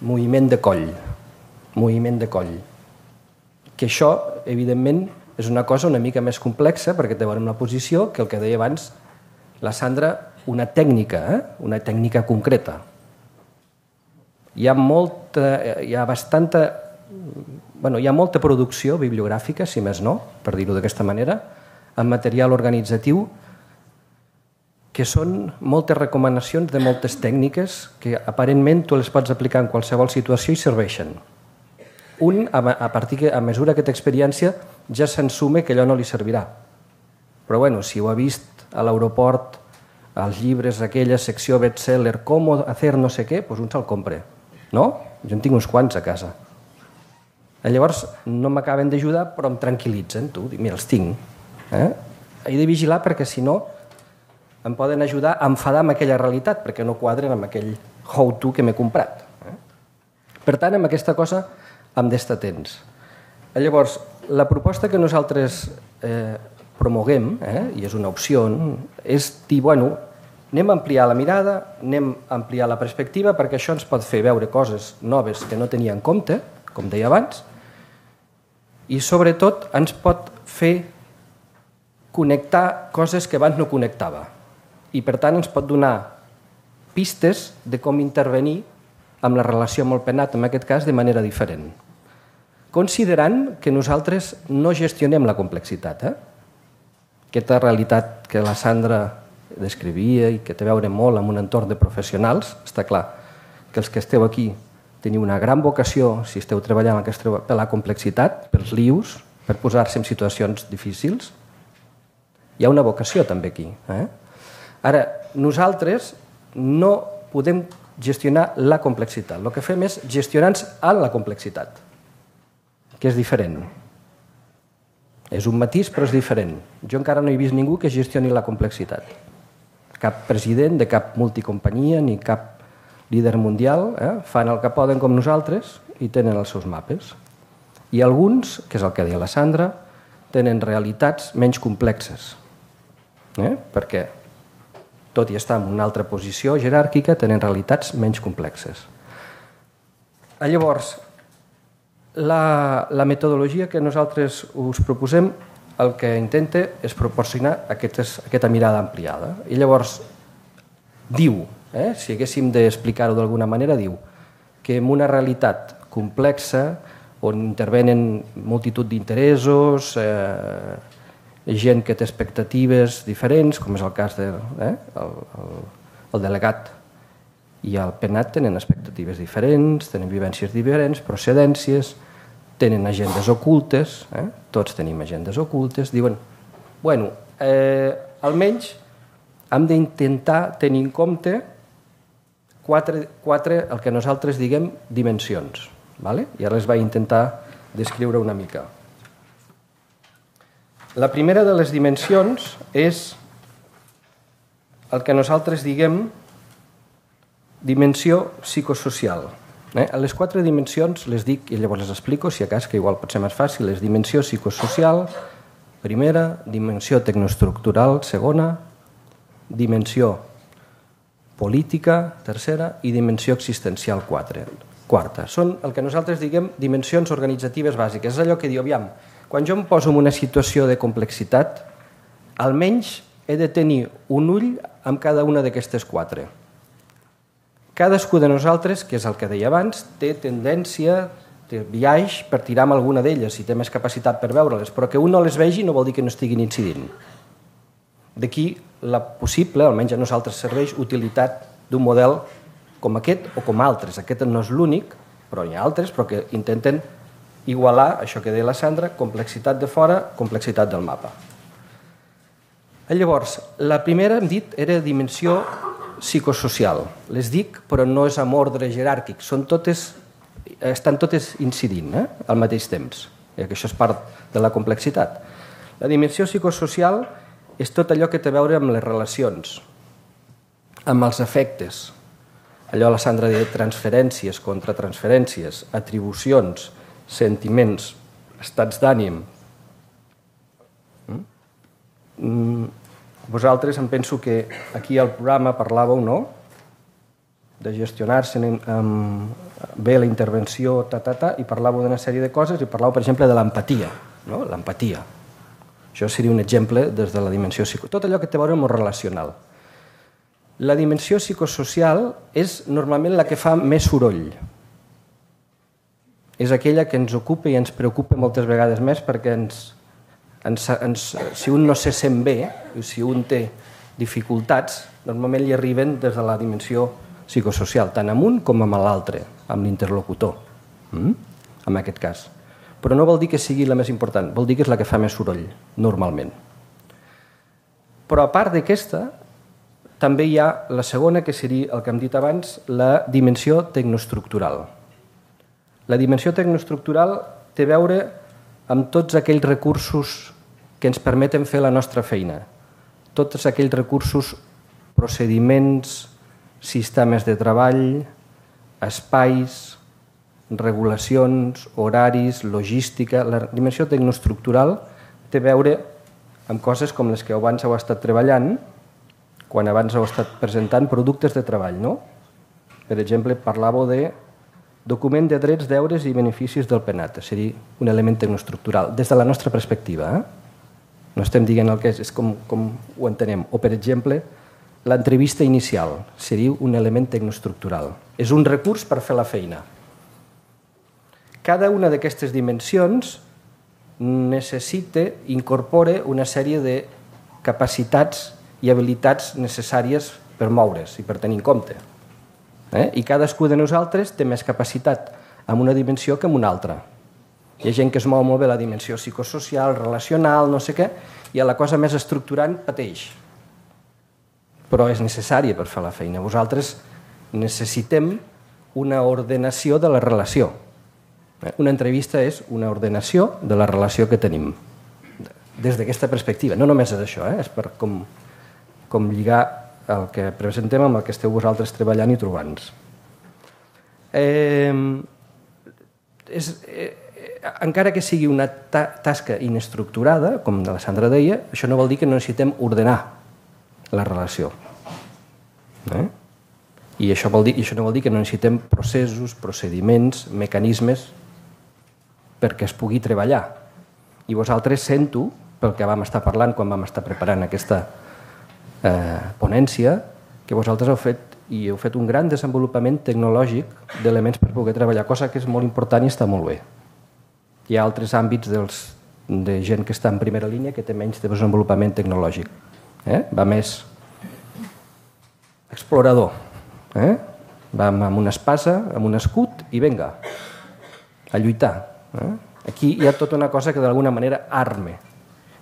moviment de coll. Moviment de coll. Que això, evidentment, és una cosa una mica més complexa, perquè té una posició que el que deia abans la Sandra, una tècnica, eh? una tècnica concreta. Hi ha molta, hi ha bastanta, bueno, hi ha molta producció bibliogràfica, si més no, per dir-ho d'aquesta manera, en material organitzatiu, que són moltes recomanacions de moltes tècniques que aparentment tu les pots aplicar en qualsevol situació i serveixen. Un, a, partir que, a mesura que té experiència, ja s'ensume que allò no li servirà. Però bueno, si ho ha vist a l'aeroport, als llibres, aquella secció bestseller, com hacer no sé què, doncs un se'l compra. No? Jo en tinc uns quants a casa. Llavors no m'acaben d'ajudar, però em tranquil·litzen. Tu, mira, els tinc. Eh? He de vigilar perquè si no em poden ajudar a enfadar amb aquella realitat, perquè no quadren amb aquell how-to que m'he comprat. Eh? Per tant, amb aquesta cosa hem d'estar atents. Llavors, la proposta que nosaltres eh, promoguem, eh, i és una opció, és dir, bueno, anem a ampliar la mirada, anem a ampliar la perspectiva, perquè això ens pot fer veure coses noves que no tenia en compte, com deia abans, i sobretot ens pot fer connectar coses que abans no connectava. I per tant ens pot donar pistes de com intervenir amb la relació amb el penat, en aquest cas, de manera diferent. Considerant que nosaltres no gestionem la complexitat. Eh? Aquesta realitat que la Sandra descrivia i que té a veure molt amb un entorn de professionals, està clar que els que esteu aquí teniu una gran vocació, si esteu treballant per la complexitat, pels lius, per posar-se en situacions difícils. Hi ha una vocació també aquí. Eh? Ara, nosaltres no podem gestionar la complexitat. El que fem és gestionar-nos en la complexitat, que és diferent. És un matís, però és diferent. Jo encara no he vist ningú que gestioni la complexitat. Cap president de cap multicompanyia ni cap líder mundial eh, fan el que poden com nosaltres i tenen els seus mapes. I alguns, que és el que deia la Sandra, tenen realitats menys complexes. Eh? Perquè, tot i estar en una altra posició jeràrquica, tenen realitats menys complexes. Llavors, la, la metodologia que nosaltres us proposem el que intenta és proporcionar aquestes, aquesta mirada ampliada. I llavors diu, eh, si haguéssim d'explicar-ho d'alguna manera, diu que en una realitat complexa on intervenen multitud d'interessos, eh, gent que té expectatives diferents, com és el cas del eh, el, el, el delegat i el penat tenen expectatives diferents, tenen vivències diferents, procedències, tenen agendes ocultes, eh? Tots tenim agendes ocultes, diuen, bueno, eh, almenys hem d'intentar tenir en compte quatre, quatre, el que nosaltres diguem, dimensions. ¿Vale? I ara les vaig intentar descriure una mica. La primera de les dimensions és el que nosaltres diguem dimensió psicosocial. Eh? A les quatre dimensions les dic i llavors les explico, si a cas, que igual pot ser més fàcil, és dimensió psicosocial, primera, dimensió tecnoestructural, segona, dimensió política, tercera, i dimensió existencial, quatre. Quarta. Són el que nosaltres diguem dimensions organitzatives bàsiques. És allò que diu, aviam, quan jo em poso en una situació de complexitat, almenys he de tenir un ull amb cada una d'aquestes quatre. Cadascú de nosaltres, que és el que deia abans, té tendència, té biaix per tirar amb alguna d'elles i té més capacitat per veure-les, però que un no les vegi no vol dir que no estiguin incidint. D'aquí la possible, almenys a nosaltres serveix, utilitat d'un model com aquest o com altres. Aquest no és l'únic, però hi ha altres, però que intenten igualar, això que deia la Sandra, complexitat de fora, complexitat del mapa. Llavors, la primera, hem dit, era dimensió psicosocial. Les dic, però no és amb ordre jeràrquic, són totes, estan totes incidint eh, al mateix temps, que això és part de la complexitat. La dimensió psicosocial és tot allò que té a veure amb les relacions, amb els efectes, allò la Sandra deia transferències, contratransferències, atribucions, sentiments, estats d'ànim. Vosaltres em penso que aquí al programa parlàveu, no?, de gestionar-se bé la intervenció, ta, ta, ta, i parlàveu d'una sèrie de coses i parlàveu, per exemple, de l'empatia, no? L'empatia. Això seria un exemple des de la dimensió psicosocial. Tot allò que té a veure amb el relacional. La dimensió psicosocial és normalment la que fa més soroll. És aquella que ens ocupa i ens preocupa moltes vegades més perquè ens, ens, ens, si un no se sent bé, si un té dificultats, normalment li arriben des de la dimensió psicosocial, tant amb un com amb l'altre, amb l'interlocutor, mm? en aquest cas. Però no vol dir que sigui la més important, vol dir que és la que fa més soroll, normalment. Però a part d'aquesta, també hi ha la segona, que seria el que hem dit abans, la dimensió tecnoestructural. La dimensió tecnoestructural té a veure amb tots aquells recursos que ens permeten fer la nostra feina. Tots aquells recursos, procediments, sistemes de treball, espais, regulacions, horaris, logística. La dimensió tecnoestructural té a veure amb coses com les que abans heu estat treballant, quan abans heu estat presentant productes de treball, no? Per exemple, parlàveu de document de drets, deures i beneficis del penat. Seria un element tecnoestructural, des de la nostra perspectiva. Eh? No estem dient el que és, és com, com ho entenem. O, per exemple, l'entrevista inicial seria un element tecnoestructural. És un recurs per fer la feina. Cada una d'aquestes dimensions necessita, incorpora una sèrie de capacitats i habilitats necessàries per moure's i per tenir en compte. Eh? I cadascú de nosaltres té més capacitat en una dimensió que en una altra. Hi ha gent que es mou molt bé la dimensió psicosocial, relacional, no sé què, i a la cosa més estructurant pateix. Però és necessària per fer la feina. Vosaltres necessitem una ordenació de la relació. Una entrevista és una ordenació de la relació que tenim. Des d'aquesta perspectiva. No només és això, eh? És per com, com lligar el que presentem amb el que esteu vosaltres treballant i trobant-nos. Eh, és, eh, encara que sigui una ta tasca inestructurada, com la Sandra deia, això no vol dir que no necessitem ordenar la relació. Eh? I això, vol dir, i això no vol dir que no necessitem processos, procediments, mecanismes perquè es pugui treballar. I vosaltres sento, pel que vam estar parlant quan vam estar preparant aquesta eh, ponència, que vosaltres heu fet, i heu fet un gran desenvolupament tecnològic d'elements per poder treballar, cosa que és molt important i està molt bé. Hi ha altres àmbits dels, de gent que està en primera línia que té menys de desenvolupament tecnològic. Eh? Va més explorador. Eh? Va amb una espasa, amb un escut i vinga, a lluitar. Eh? Aquí hi ha tota una cosa que d'alguna manera arme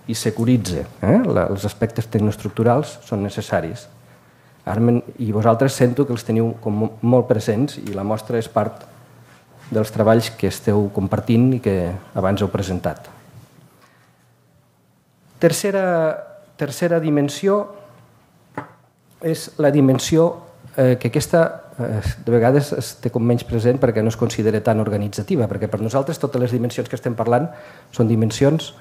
i securitza. Eh? La, els aspectes tecnoestructurals són necessaris. Armen, i vosaltres sento que els teniu com molt presents i la mostra és part dels treballs que esteu compartint i que abans heu presentat. Tercera, tercera dimensió és la dimensió eh, que aquesta eh, de vegades es té com menys present perquè no es considera tan organitzativa, perquè per nosaltres totes les dimensions que estem parlant són dimensions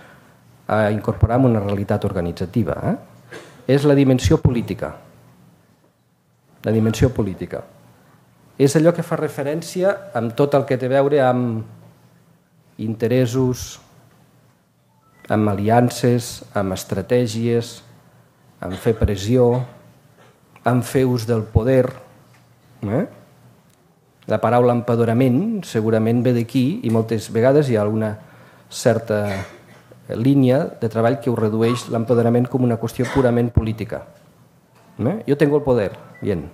a incorporar en una realitat organitzativa. Eh? És la dimensió política. La dimensió política. És allò que fa referència amb tot el que té a veure amb interessos, amb aliances, amb estratègies, amb fer pressió, amb fer ús del poder. Eh? La paraula empoderament segurament ve d'aquí i moltes vegades hi ha alguna certa línia de treball que ho redueix l'empoderament com una qüestió purament política. ¿Eh? Yo tengo el poder, bien.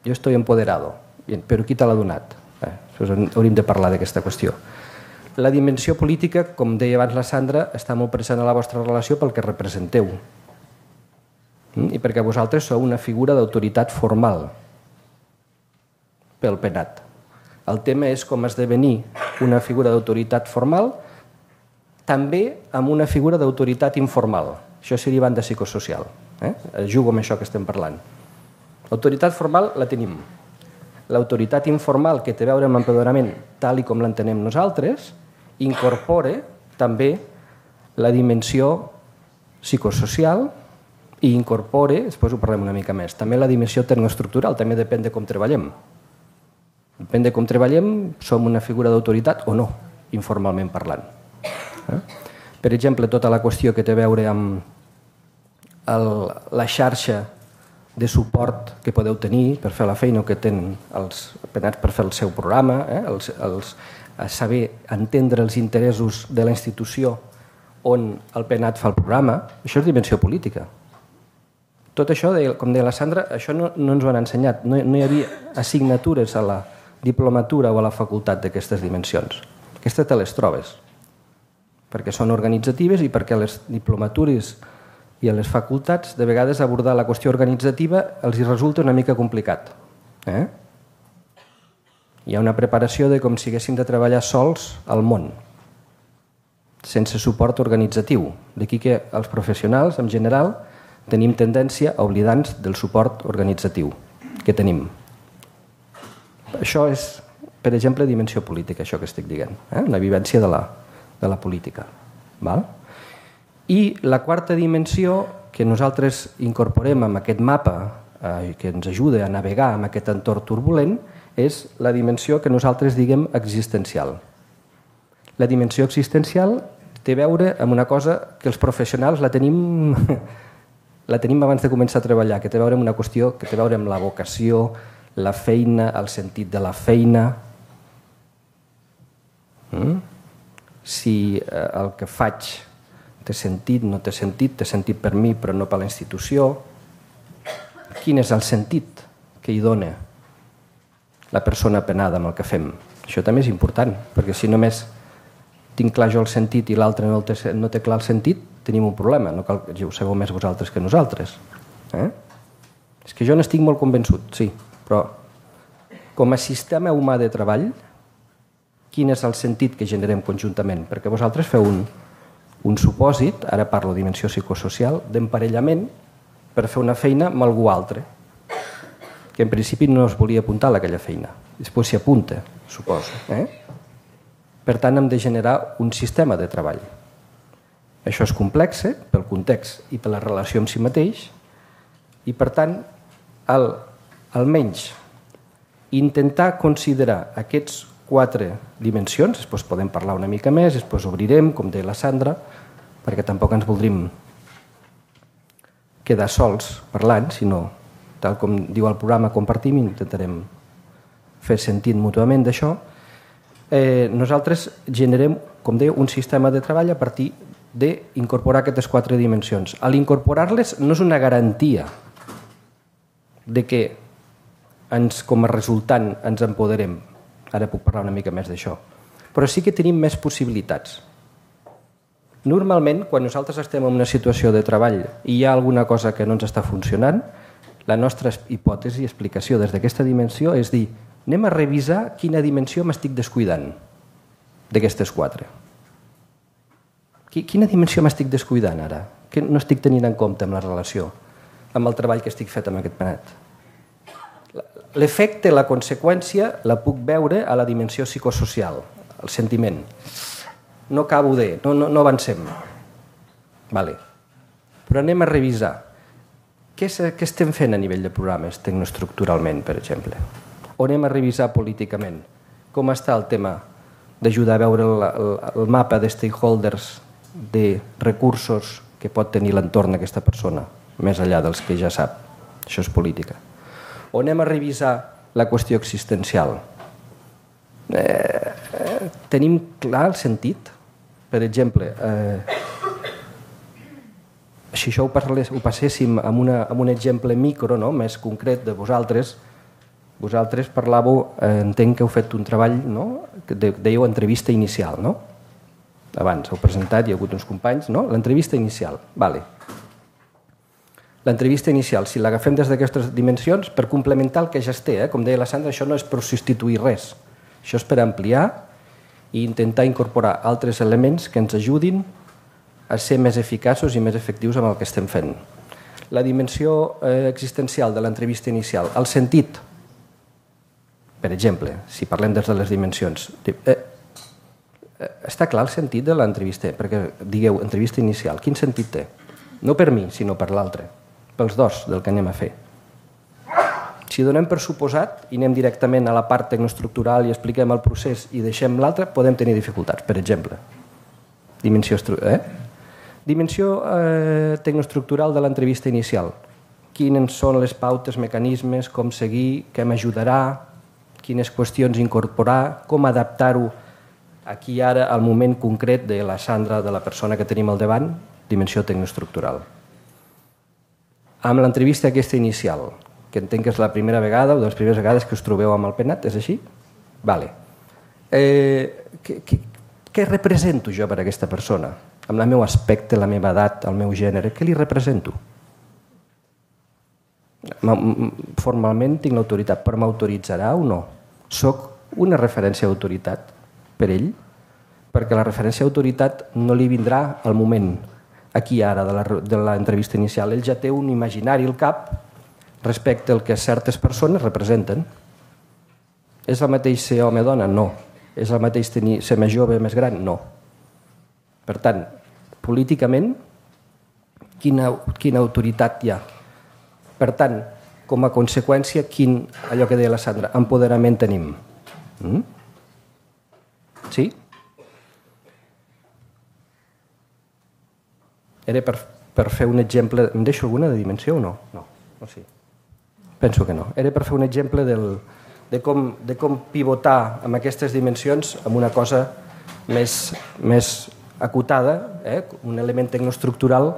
Yo estoy empoderado, bien. Però qui te l'ha donat? Eh, hauríem de parlar d'aquesta qüestió. La dimensió política, com deia abans la Sandra, està molt present a la vostra relació pel que representeu. I perquè vosaltres sou una figura d'autoritat formal pel penat. El tema és com esdevenir una figura d'autoritat formal també amb una figura d'autoritat informal. Això seria banda psicosocial. Eh? Jugo amb això que estem parlant. L'autoritat formal la tenim. L'autoritat informal, que té a veure amb l'empoderament tal i com l'entenem nosaltres, incorpora també la dimensió psicosocial i incorpora, després ho parlem una mica més, també la dimensió tecnoestructural, també depèn de com treballem. Depèn de com treballem, som una figura d'autoritat o no, informalment parlant. Eh? Per exemple, tota la qüestió que té a veure amb el, la xarxa de suport que podeu tenir per fer la feina que tenen els penats per fer el seu programa, eh? els, els, saber entendre els interessos de la institució on el penat fa el programa, això és dimensió política. Tot això, com deia la Sandra, això no, no ens ho han ensenyat. No, no hi havia assignatures a la diplomatura o a la facultat d'aquestes dimensions. Aquestes te les trobes, perquè són organitzatives i perquè les diplomatures i a les facultats de vegades abordar la qüestió organitzativa els hi resulta una mica complicat. Eh? Hi ha una preparació de com si haguéssim de treballar sols al món, sense suport organitzatiu. D'aquí que els professionals, en general, tenim tendència a oblidar-nos del suport organitzatiu que tenim. Això és, per exemple, dimensió política, això que estic dient, eh? Una vivència de la, de la política. Val? I la quarta dimensió que nosaltres incorporem en aquest mapa eh, que ens ajuda a navegar en aquest entorn turbulent és la dimensió que nosaltres diguem existencial. La dimensió existencial té a veure amb una cosa que els professionals la tenim, la tenim abans de començar a treballar, que té a veure amb una qüestió que té a veure amb la vocació, la feina, el sentit de la feina. Mm? Si eh, el que faig té sentit, no té sentit, té sentit per mi però no per la institució. Quin és el sentit que hi dona la persona penada amb el que fem? Això també és important, perquè si només tinc clar jo el sentit i l'altre no, té, no té clar el sentit, tenim un problema, no cal que ho sabeu més vosaltres que nosaltres. Eh? És que jo n'estic molt convençut, sí, però com a sistema humà de treball, quin és el sentit que generem conjuntament? Perquè vosaltres feu un, un supòsit, ara parlo de dimensió psicosocial, d'emparellament per fer una feina amb algú altre, que en principi no es volia apuntar a aquella feina. Després s'hi apunta, suposo. Eh? Per tant, hem de generar un sistema de treball. Això és complex pel context i per la relació amb si mateix i, per tant, el, almenys intentar considerar aquests quatre dimensions, després podem parlar una mica més, després obrirem, com deia la Sandra, perquè tampoc ens voldrim quedar sols parlant, sinó, tal com diu el programa, compartim i intentarem fer sentit mútuament d'això. Eh, nosaltres generem, com deia, un sistema de treball a partir d'incorporar aquestes quatre dimensions. A l'incorporar-les no és una garantia de que ens, com a resultant ens empoderem. Ara puc parlar una mica més d'això. Però sí que tenim més possibilitats. Normalment, quan nosaltres estem en una situació de treball i hi ha alguna cosa que no ens està funcionant, la nostra hipòtesi i explicació des d'aquesta dimensió és dir, anem a revisar quina dimensió m'estic descuidant d'aquestes quatre. Quina dimensió m'estic descuidant ara? Que no estic tenint en compte amb la relació, amb el treball que estic fet amb aquest penet. L'efecte, la conseqüència, la puc veure a la dimensió psicosocial, el sentiment. No acabo de... no, no, no avancem. Vale. Però anem a revisar. Què, què estem fent a nivell de programes tecnoestructuralment, per exemple? O anem a revisar políticament? Com està el tema d'ajudar a veure el, el, el mapa de stakeholders, de recursos que pot tenir l'entorn d'aquesta persona, més enllà dels que ja sap? Això és política. O anem a revisar la qüestió existencial? Eh, eh, tenim clar el sentit? Per exemple, eh, si això ho, parlés, ho passéssim amb, una, amb un exemple micro, no? Més concret de vosaltres, vosaltres parlàveu, eh, entenc que heu fet un treball, no? Que dèieu entrevista inicial, no? Abans heu presentat, hi ha hagut uns companys, no? L'entrevista inicial, vale. L'entrevista inicial, si l'agafem des d'aquestes dimensions, per complementar el que ja es té, eh? Com deia la Sandra, això no és per substituir res, això és per ampliar i intentar incorporar altres elements que ens ajudin a ser més eficaços i més efectius amb el que estem fent. La dimensió eh, existencial de l'entrevista inicial, el sentit, per exemple, si parlem des de les dimensions, eh, està clar el sentit de l'entrevista, perquè digueu, entrevista inicial, quin sentit té? No per mi, sinó per l'altre, pels dos del que anem a fer. Si donem per suposat i anem directament a la part tecnoestructural i expliquem el procés i deixem l'altre, podem tenir dificultats, per exemple. Dimensió, eh? Dimensió eh, tecnoestructural de l'entrevista inicial. Quines són les pautes, mecanismes, com seguir, què m'ajudarà, quines qüestions incorporar, com adaptar-ho aquí ara al moment concret de la Sandra, de la persona que tenim al davant, dimensió tecnoestructural. Amb l'entrevista aquesta inicial, que entenc que és la primera vegada o de les primeres vegades que us trobeu amb el penat, és així? Vale. Eh, què, què, què represento jo per a aquesta persona? Amb el meu aspecte, la meva edat, el meu gènere, què li represento? Formalment tinc l'autoritat, però m'autoritzarà o no? Soc una referència d'autoritat per ell? Perquè la referència d'autoritat no li vindrà al moment, aquí ara, de l'entrevista inicial. Ell ja té un imaginari al cap respecte al que certes persones representen. És el mateix ser home o dona? No. És el mateix tenir, ser més jove o més gran? No. Per tant, políticament, quina, quina autoritat hi ha? Per tant, com a conseqüència, quin, allò que deia la Sandra, empoderament tenim? Mm? Sí? Era per per fer un exemple... Em deixo alguna de dimensió o no? No, no sí. Penso que no. Era per fer un exemple del, de, com, de com pivotar amb aquestes dimensions amb una cosa més, més acotada, eh? Un element tecnoestructural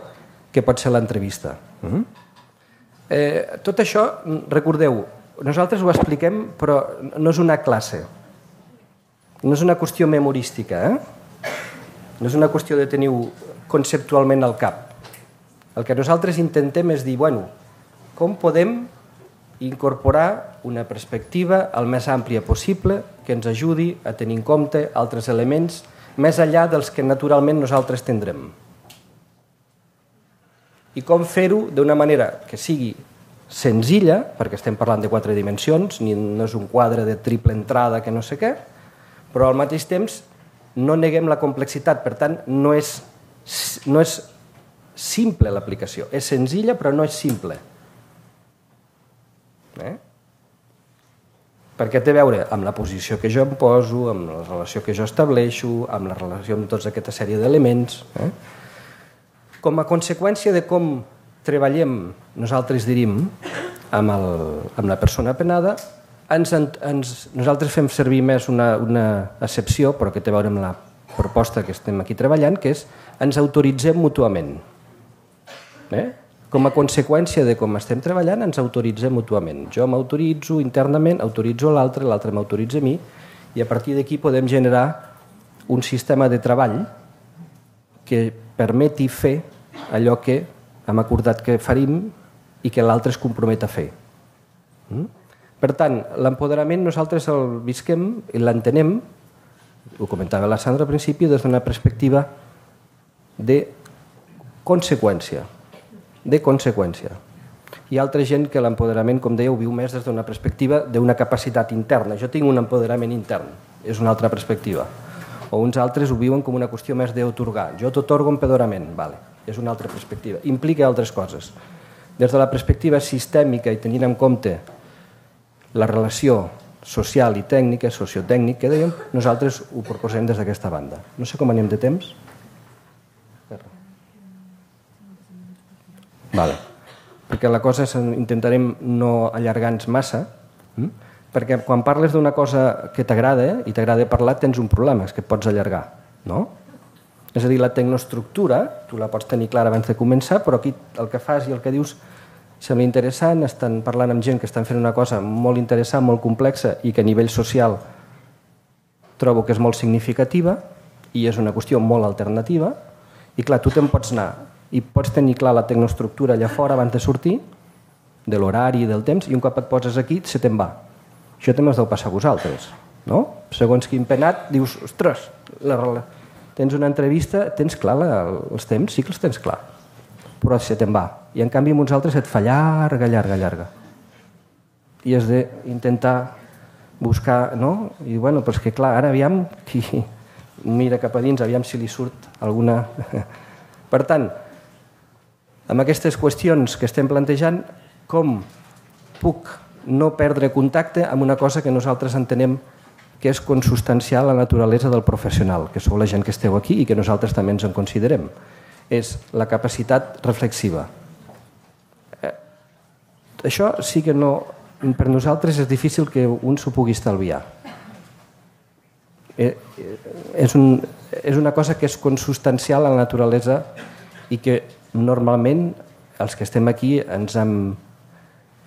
que pot ser l'entrevista. Uh-huh. eh, tot això, recordeu, nosaltres ho expliquem, però no és una classe. No és una qüestió memorística, eh? No és una qüestió de tenir conceptualment al cap. El que nosaltres intentem és dir, bueno, com podem incorporar una perspectiva el més àmplia possible que ens ajudi a tenir en compte altres elements més enllà dels que naturalment nosaltres tindrem. I com fer-ho d'una manera que sigui senzilla, perquè estem parlant de quatre dimensions, ni no és un quadre de triple entrada que no sé què, però al mateix temps no neguem la complexitat, per tant no és, no és simple l'aplicació, és senzilla però no és simple. Eh? Perquè té a veure amb la posició que jo em poso, amb la relació que jo estableixo, amb la relació amb tota aquesta sèrie d'elements. Eh? Com a conseqüència de com treballem, nosaltres dirim, amb, el, amb la persona penada, ens, ens, nosaltres fem servir més una, una accepció, però que té a veure amb la proposta que estem aquí treballant, que és ens autoritzem mútuament. Eh? Com a conseqüència de com estem treballant, ens autoritzem mútuament. Jo m'autoritzo internament, autoritzo l'altre, l'altre m'autoritza a mi, i a partir d'aquí podem generar un sistema de treball que permeti fer allò que hem acordat que farim i que l'altre es compromet a fer. Mm? Per tant, l'empoderament nosaltres el visquem i l'entenem, ho comentava la Sandra al principi, des d'una perspectiva de conseqüència. De conseqüència. Hi ha altra gent que l'empoderament, com deia, ho viu més des d'una perspectiva d'una capacitat interna. Jo tinc un empoderament intern, és una altra perspectiva. O uns altres ho viuen com una qüestió més d'autorgar. Jo t'atorgo empoderament, vale. És una altra perspectiva. Implica altres coses. Des de la perspectiva sistèmica i tenint en compte la relació social i tècnica, sociotècnica, que dèiem, nosaltres ho proposem des d'aquesta banda. No sé com anem de temps. Vale. Perquè la cosa és, intentarem no allargar-nos massa, hm? Perquè quan parles d'una cosa que t'agrada i t'agrada parlar, tens un problema, és que et pots allargar, no? És a dir, la tecnoestructura, tu la pots tenir clara abans de començar, però aquí el que fas i el que dius sembla interessant, estan parlant amb gent que estan fent una cosa molt interessant, molt complexa i que a nivell social trobo que és molt significativa i és una qüestió molt alternativa i clar, tu te'n pots anar i pots tenir clar la tecnoestructura allà fora abans de sortir, de l'horari i del temps, i un cop et poses aquí se te'n va. Això també us deu passar a vosaltres, no? Segons quin penat dius, ostres, la relació. Tens una entrevista, tens clar la, els temps, sí que els tens clar, però se te'n va. I en canvi amb uns altres et fa llarga, llarga, llarga. I has d'intentar buscar, no? I bueno, però és que clar, ara aviam qui mira cap a dins, aviam si li surt alguna... Per tant, amb aquestes qüestions que estem plantejant, com puc no perdre contacte amb una cosa que nosaltres entenem que és consubstancial a la naturalesa del professional, que sou la gent que esteu aquí i que nosaltres també ens en considerem. És la capacitat reflexiva. Eh, això sí que no... Per nosaltres és difícil que un s'ho pugui estalviar. Eh, és, un, és una cosa que és consubstancial a la naturalesa i que normalment els que estem aquí ens hem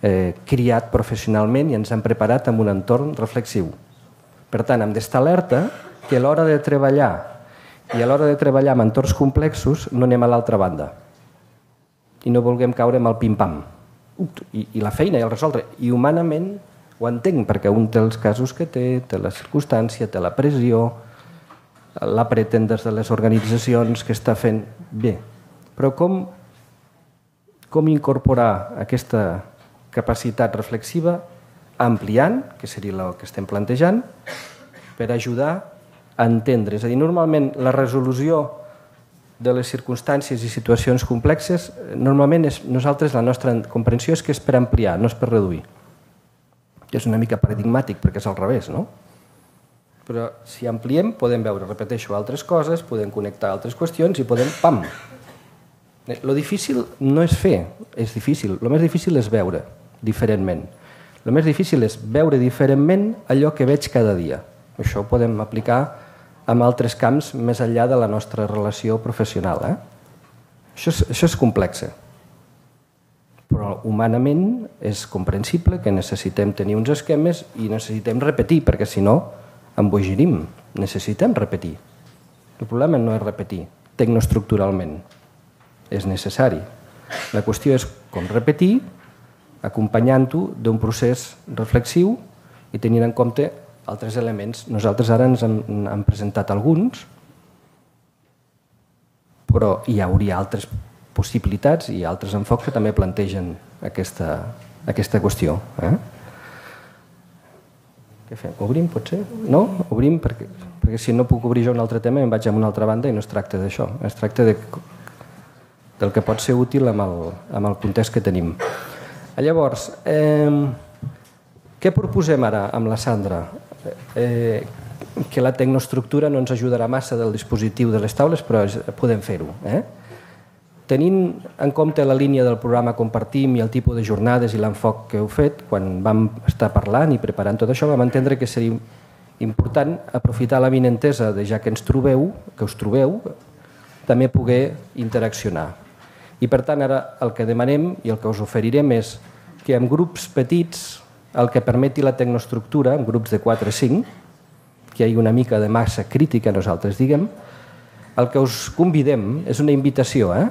eh, criat professionalment i ens hem preparat en un entorn reflexiu. Per tant, hem d'estar alerta que a l'hora de treballar i a l'hora de treballar amb entorns complexos no anem a l'altra banda i no vulguem caure amb el pim-pam I, i la feina i el resoldre. I humanament ho entenc, perquè un té els casos que té, té la circumstància, té la pressió, la pretén des de les organitzacions que està fent bé. Però com, com incorporar aquesta capacitat reflexiva ampliant, que seria el que estem plantejant, per ajudar a entendre. És a dir, normalment la resolució de les circumstàncies i situacions complexes, normalment és, nosaltres la nostra comprensió és que és per ampliar, no és per reduir. És una mica paradigmàtic perquè és al revés, no? Però si ampliem podem veure, repeteixo, altres coses, podem connectar altres qüestions i podem, pam, Lo difícil no és fer, és difícil. Lo més difícil és veure diferentment. Lo més difícil és veure diferentment allò que veig cada dia. Això ho podem aplicar en altres camps més enllà de la nostra relació professional. Eh? Això, és, això és complex. Però humanament és comprensible que necessitem tenir uns esquemes i necessitem repetir, perquè si no embogirim. Necessitem repetir. El problema no és repetir tecnoestructuralment. És necessari. La qüestió és com repetir, acompanyant-ho d'un procés reflexiu i tenint en compte altres elements. Nosaltres ara ens hem, hem presentat alguns, però hi hauria altres possibilitats i altres enfocs que també plantegen aquesta, aquesta qüestió. Eh? Què fem? Obrim, potser? No? Obrim perquè, perquè si no puc obrir jo un altre tema em vaig a una altra banda i no es tracta d'això. Es tracta de, del que pot ser útil amb el, amb el context que tenim. Llavors, eh, què proposem ara amb la Sandra? Eh, que la tecnoestructura no ens ajudarà massa del dispositiu de les taules, però podem fer-ho. Eh? Tenint en compte la línia del programa Compartim i el tipus de jornades i l'enfoc que heu fet, quan vam estar parlant i preparant tot això, vam entendre que seria important aprofitar la vinentesa de ja que ens trobeu, que us trobeu, també poder interaccionar. I per tant ara el que demanem i el que us oferirem és que en grups petits, el que permeti la tecnoestructura, en grups de quatre o cinc, que hi ha una mica de massa crítica, nosaltres diguem, el que us convidem és una invitació, eh?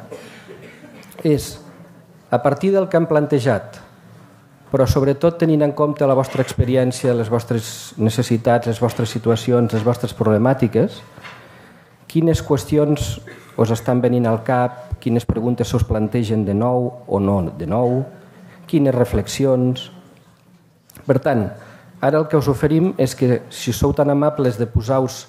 És a partir del que hem plantejat, però sobretot tenint en compte la vostra experiència, les vostres necessitats, les vostres situacions, les vostres problemàtiques, quines qüestions us estan venint al cap, quines preguntes us plantegen de nou o no de nou, quines reflexions. Per tant, ara el que us oferim és que si sou tan amables de posar-vos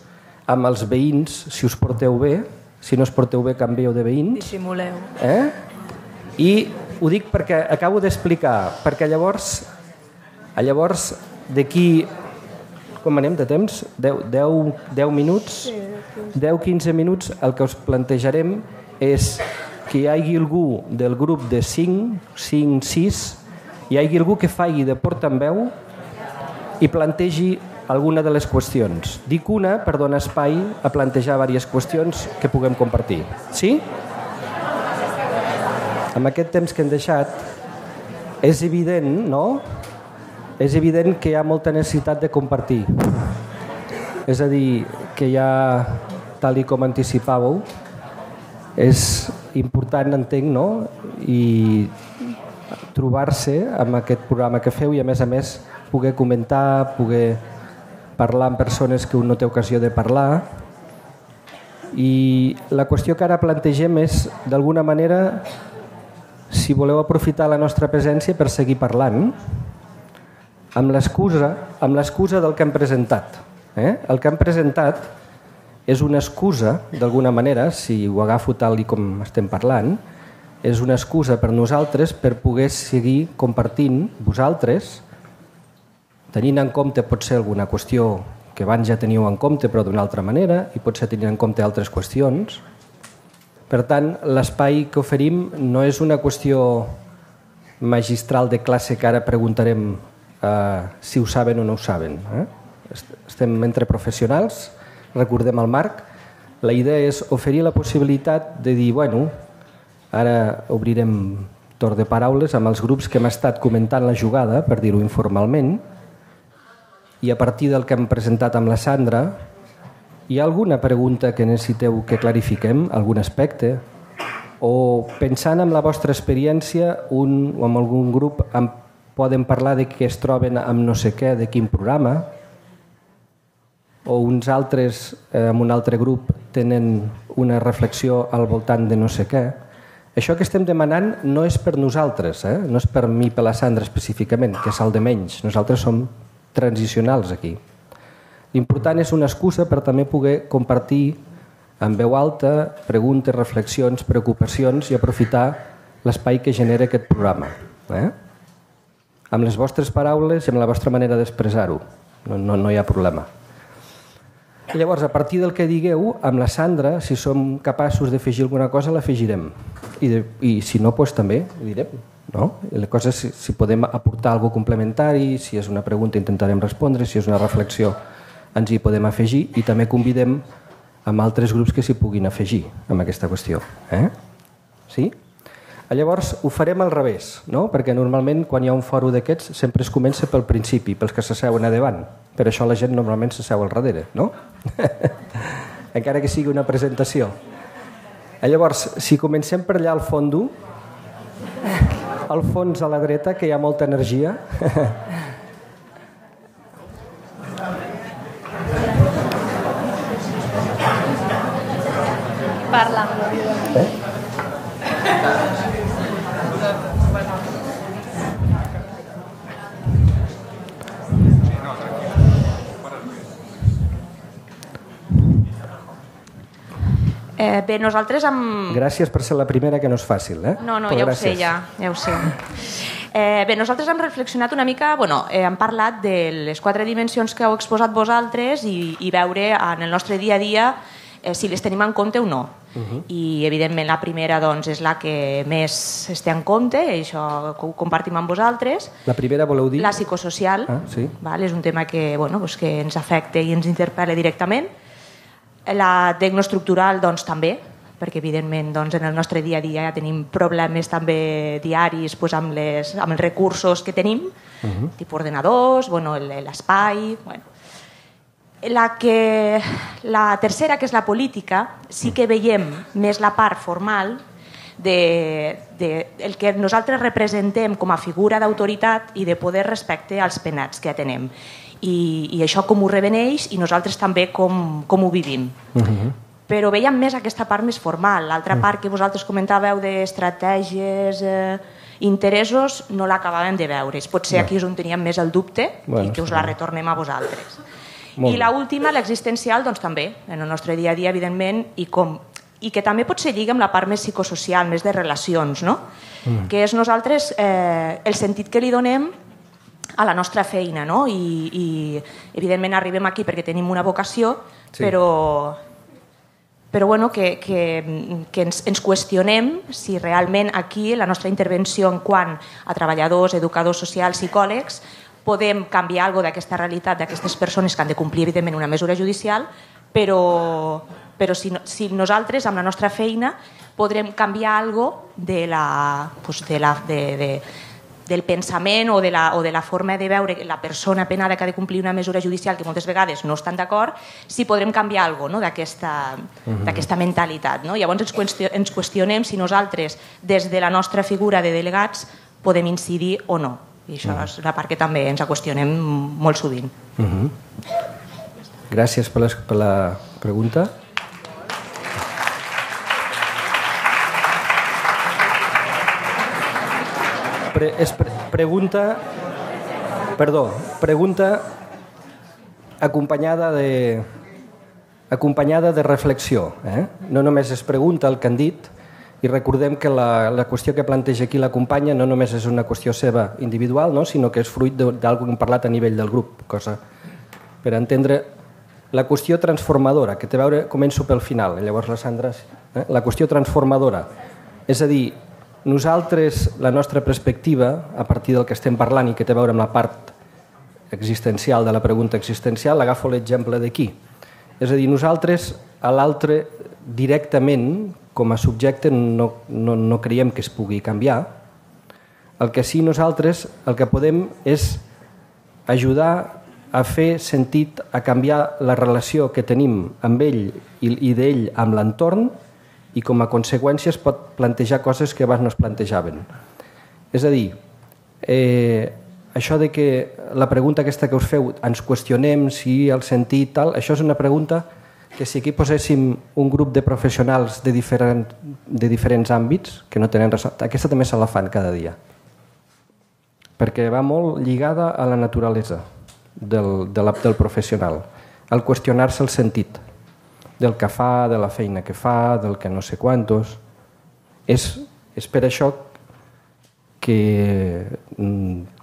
amb els veïns, si us porteu bé, si no us porteu bé canvieu de veïns. Dissimuleu. Eh? I ho dic perquè acabo d'explicar, perquè llavors, llavors d'aquí, com anem de temps? deu minuts? deu a quinze minuts, el que us plantejarem és que hi hagi algú del grup de cinc, cinc, sis, hi hagi algú que faci de portaveu i plantegi alguna de les qüestions. Dic una per donar espai a plantejar diverses qüestions que puguem compartir. Sí? Amb aquest temps que hem deixat, és evident, no? És evident que hi ha molta necessitat de compartir. És a dir, que hi ha, tal i com anticipàveu, és important, entenc, no? I trobar-se amb aquest programa que feu i, a més a més, poder comentar, poder parlar amb persones que un no té ocasió de parlar. I la qüestió que ara plantegem és, d'alguna manera, si voleu aprofitar la nostra presència per seguir parlant, amb l'excusa amb l'excusa del que hem presentat. Eh? El que hem presentat és una excusa, d'alguna manera, si ho agafo tal i com estem parlant, és una excusa per nosaltres per poder seguir compartint vosaltres, tenint en compte potser alguna qüestió que abans ja teníeu en compte però d'una altra manera i potser tenint en compte altres qüestions. Per tant, l'espai que oferim no és una qüestió magistral de classe que ara preguntarem eh, si ho saben o no ho saben. Eh? Estem entre professionals, recordem el marc. La idea és oferir la possibilitat de dir, bueno, ara obrirem torn de paraules amb els grups que hem estat comentant la jugada, per dir-ho informalment, i a partir del que hem presentat amb la Sandra, hi ha alguna pregunta que necessiteu que clarifiquem, algun aspecte? O pensant en la vostra experiència, un o amb algun grup en poden parlar de què es troben amb no sé què, de quin programa, o uns altres, eh, amb un altre grup, tenen una reflexió al voltant de no sé què. Això que estem demanant no és per nosaltres, eh? No és per mi, per la Sandra específicament, que és el de menys. Nosaltres som transicionals aquí. L'important és una excusa per també poder compartir en veu alta preguntes, reflexions, preocupacions i aprofitar l'espai que genera aquest programa. Eh? Amb les vostres paraules i amb la vostra manera d'expressar-ho. No, no, no hi ha problema. I llavors, a partir del que digueu, amb la Sandra, si som capaços d'afegir alguna cosa, l'afegirem. I, de, i si no, doncs també ho direm. No? La cosa és si, si podem aportar alguna cosa complementari, si és una pregunta intentarem respondre, si és una reflexió ens hi podem afegir i també convidem amb altres grups que s'hi puguin afegir amb aquesta qüestió. Eh? Sí? Llavors ho farem al revés, no? Perquè normalment quan hi ha un fòrum d'aquests sempre es comença pel principi, pels que s'asseuen a davant. Per això la gent normalment s'asseu al darrere, no? Encara que sigui una presentació. Llavors, si comencem per allà al fondo, al fons a la dreta, que hi ha molta energia... Parla. Eh? Eh, bé, nosaltres amb... Gràcies per ser la primera, que no és fàcil, eh? No, no, Però ja gràcies. ho sé, ja, ja ho sé. Eh, bé, nosaltres hem reflexionat una mica, bueno, eh, hem parlat de les quatre dimensions que heu exposat vosaltres i, i veure en el nostre dia a dia eh, si les tenim en compte o no. Uh -huh. I, evidentment, la primera doncs, és la que més es té en compte, i això ho compartim amb vosaltres. La primera voleu dir? La psicosocial. Ah, sí. Val? És un tema que, bueno, doncs, que ens afecta i ens interpel·la directament. La tecnoestructural, doncs, també, perquè, evidentment, doncs, en el nostre dia a dia ja tenim problemes també diaris doncs, amb, les, amb els recursos que tenim, uh-huh. tipus ordenadors, bueno, l'espai... Bueno. La, que, la tercera, que és la política, sí que veiem més la part formal de, de el que nosaltres representem com a figura d'autoritat i de poder respecte als penats que atenem. I, i això com ho reveneix i nosaltres també com, com ho vivim. Uh-huh. Però veiem més aquesta part més formal. L'altra uh-huh. part que vosaltres comentàveu d'estratègies, eh, interessos, no l'acabàvem de veure. Potser aquí és on teníem més el dubte bueno, i que us la retornem a vosaltres. Molt I l'última, l'existencial, doncs també, en el nostre dia a dia, evidentment, i, com, i que també pot ser lliga amb la part més psicosocial, més de relacions, no? Mm. Que és nosaltres eh, el sentit que li donem a la nostra feina, no? I, i evidentment arribem aquí perquè tenim una vocació, sí. però, però bueno, que, que, que ens, ens qüestionem si realment aquí la nostra intervenció en quant a treballadors, educadors socials, psicòlegs, podem canviar alguna cosa d'aquesta realitat d'aquestes persones que han de complir, evidentment, una mesura judicial, però, però si, no, si nosaltres, amb la nostra feina, podrem canviar alguna cosa de la, pues de la, de, de, del pensament o de, la, o de la forma de veure la persona penada que ha de complir una mesura judicial que moltes vegades no estan d'acord, si podrem canviar alguna cosa no? d'aquesta uh-huh. d'aquesta mentalitat. No? Llavors ens, qüestion, ens qüestionem si nosaltres, des de la nostra figura de delegats, podem incidir o no. I això uh-huh. és la part que també ens qüestionem molt sovint. Uh-huh. Gràcies per, les, per la pregunta. Pre, és pre, pregunta perdó, pregunta acompanyada de acompanyada de reflexió, eh? No només es pregunta el que han dit, i recordem que la, la qüestió que planteja aquí la companya no només és una qüestió seva individual, no? Sinó que és fruit d'alguna que hem parlat a nivell del grup, cosa per entendre la qüestió transformadora, que té a veure, començo pel final, llavors la Sandra, eh? La qüestió transformadora, és a dir, nosaltres, la nostra perspectiva, a partir del que estem parlant i que té a veure amb la part existencial de la pregunta existencial, agafo l'exemple d'aquí. És a dir, nosaltres a l'altre directament, com a subjecte, no, no, no creiem que es pugui canviar. El que sí nosaltres el que podem és ajudar a fer sentit, a canviar la relació que tenim amb ell i, i d'ell amb l'entorn, i com a conseqüència es pot plantejar coses que abans no es plantejaven. És a dir, eh, això de que la pregunta aquesta que us feu, ens qüestionem si el sentit tal, això és una pregunta que si aquí poséssim un grup de professionals de, diferent, de diferents àmbits, que no tenen res, aquesta també se la fan cada dia, perquè va molt lligada a la naturalesa del, de la, del professional, al qüestionar-se el sentit del que fa, de la feina que fa, del que no sé quantos. És, és per això que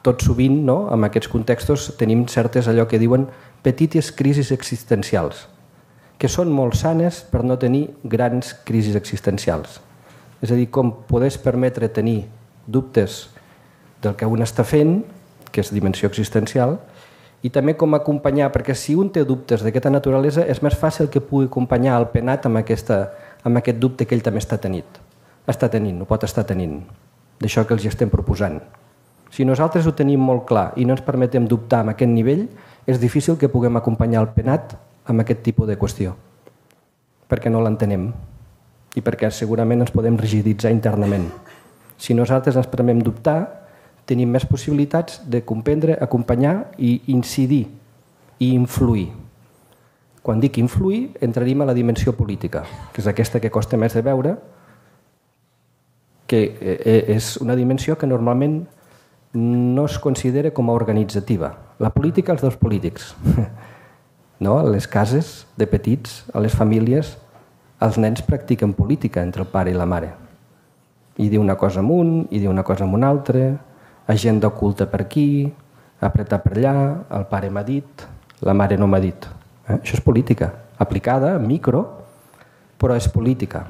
tot sovint, no, en aquests contextos, tenim certes allò que diuen petites crisis existencials, que són molt sanes per no tenir grans crisis existencials. És a dir, com podés permetre tenir dubtes del que un està fent, que és dimensió existencial, i també com acompanyar, perquè si un té dubtes d'aquesta naturalesa és més fàcil que pugui acompanyar el penat amb, aquesta, amb aquest dubte que ell també està tenint. Està tenint, ho pot estar tenint, d'això que els estem proposant. Si nosaltres ho tenim molt clar i no ens permetem dubtar amb aquest nivell, és difícil que puguem acompanyar el penat amb aquest tipus de qüestió, perquè no l'entenem i perquè segurament ens podem rigiditzar internament. Si nosaltres ens permetem dubtar, tenim més possibilitats de comprendre, acompanyar i incidir i influir. Quan dic influir, entraríem a la dimensió política, que és aquesta que costa més de veure, que és una dimensió que normalment no es considera com a organitzativa. La política, els dels polítics. No? A les cases de petits, a les famílies, els nens practiquen política entre el pare i la mare. I diu una cosa amb un, i diu una cosa amb un altre, agenda oculta per aquí, apretar per allà, el pare m'ha dit, la mare no m'ha dit. Eh? Això és política, aplicada, micro, però és política.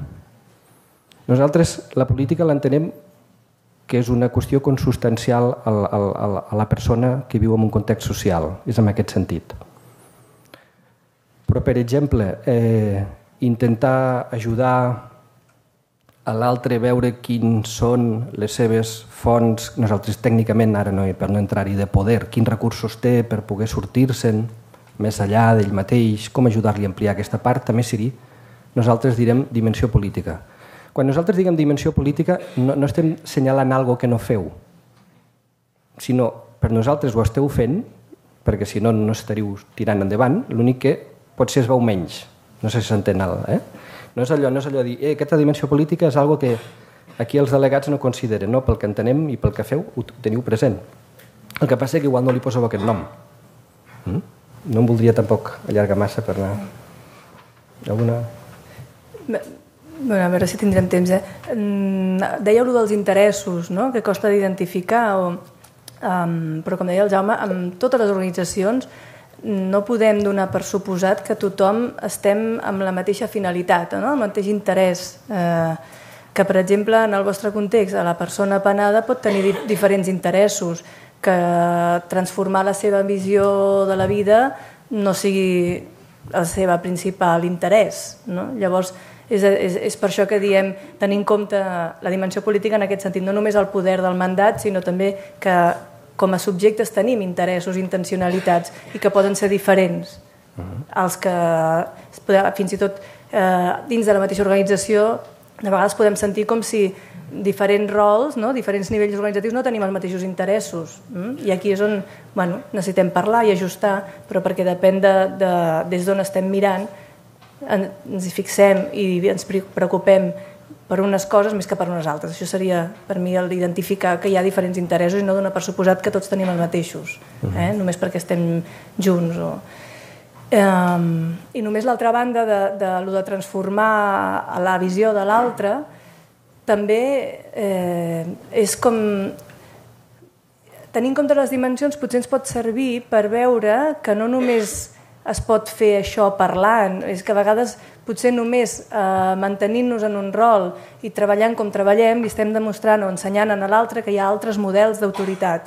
Nosaltres la política l'entenem que és una qüestió consubstancial a la, a la persona que viu en un context social, és en aquest sentit. Però, per exemple, eh, intentar ajudar a l'altre, veure quins són les seves fonts, nosaltres tècnicament, ara no, per no entrar-hi de poder, quins recursos té per poder sortir-se'n més enllà d'ell mateix, com ajudar-li a ampliar aquesta part, també seria, nosaltres direm dimensió política. Quan nosaltres diguem dimensió política no, no estem assenyalant alguna que no feu, sinó per nosaltres ho esteu fent, perquè si no no estaríeu tirant endavant, l'únic que potser es veu menys, no sé si s'entén alt, eh? No és allò, no és allò de dir, eh, aquesta dimensió política és algo que aquí els delegats no consideren, no? Pel que entenem i pel que feu ho teniu present. El que passa és que igual no li poseu aquest nom. Mm? No em voldria tampoc allargar massa per anar... Alguna... Bueno, a veure si tindrem temps. Eh? Dèieu allò dels interessos, no? Que costa d'identificar, o, um, però com deia el Jaume, amb totes les organitzacions no podem donar per suposat que tothom estem amb la mateixa finalitat, no? El mateix interès. Eh, que, per exemple, en el vostre context, la persona penada pot tenir di diferents interessos, que transformar la seva visió de la vida no sigui el seu principal interès, no? Llavors, és, és, és per això que diem tenir en compte la dimensió política en aquest sentit, no només el poder del mandat, sinó també que com a subjectes tenim interessos, intencionalitats i que poden ser diferents. Els que fins i tot eh, dins de la mateixa organització de vegades podem sentir com si diferents rols, no? Diferents nivells organitzatius no tenim els mateixos interessos. Mm? I aquí és on bueno, necessitem parlar i ajustar, però perquè depèn de, de, des d'on estem mirant, ens hi fixem i ens preocupem per unes coses més que per unes altres. Això seria, per mi, l'identificar que hi ha diferents interessos i no donar per suposat que tots tenim els mateixos, eh? Només perquè estem junts. O... Um, I només l'altra banda de, de, de, de transformar la visió de l'altre també eh, és com... Tenint en compte les dimensions potser ens pot servir per veure que no només es pot fer això parlant, és que a vegades potser només eh, mantenint-nos en un rol i treballant com treballem li estem demostrant o ensenyant a l'altre que hi ha altres models d'autoritat,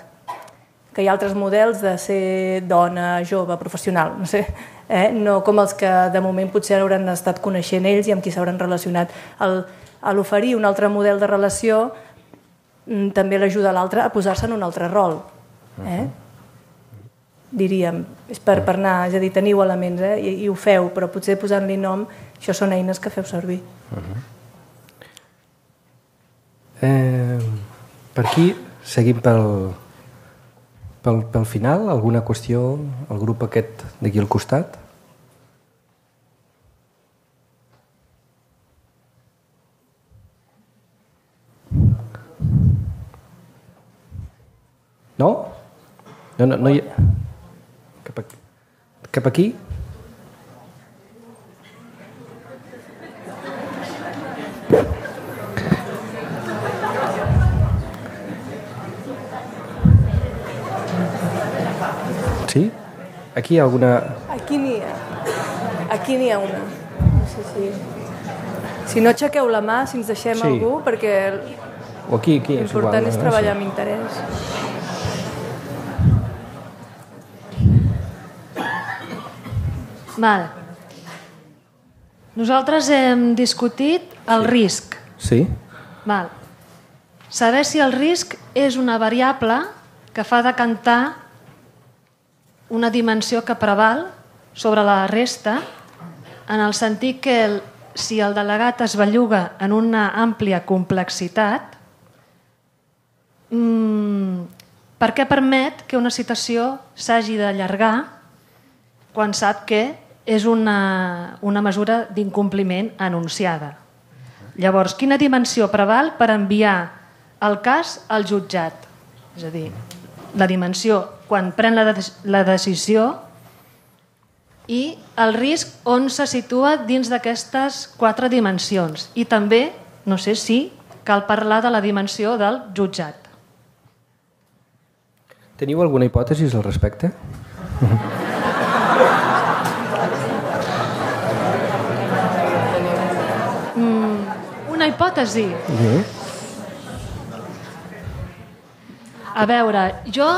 que hi ha altres models de ser dona, jove, professional, no sé, eh? No com els que de moment potser hauran estat coneixent ells i amb qui s'hauran relacionat. El, a l'oferir un altre model de relació també l'ajuda a l'altre a posar-se en un altre rol, eh? Diríem, és per, per anar, és a dir, teniu elements, eh? I, i ho feu, però potser posant-li nom, això són eines que feu servir. Uh-huh. eh, per aquí seguim pel, pel, pel final, alguna qüestió, el grup aquest d'aquí al costat? No? No, no, no hi ha... Cap aquí? Cap aquí? Sí? Aquí hi ha alguna... Aquí n'hi ha. Aquí n'hi ha una. No sé si... Si Si no, aixequeu la mà, si ens deixem Sí. algú, perquè O aquí, aquí. és l'important igual, és no? treballar Sí. amb interès. Val. Nosaltres hem discutit el risc. Sí? Val. Saber si el risc és una variable que fa decantar una dimensió que preval sobre la resta, en el sentit que el, si el delegat es belluga en una àmplia complexitat, mmm, per què permet que una situació s'hagi d'allargar quan sap que és una, una mesura d'incompliment anunciada? Llavors, quina dimensió preval per enviar el cas al jutjat? És a dir, la dimensió quan pren la, de la decisió i el risc on se situa dins d'aquestes quatre dimensions. I també, no sé si cal parlar de la dimensió del jutjat. Teniu alguna hipòtesi al respecte? Mm, una hipòtesi. Sí. A veure, jo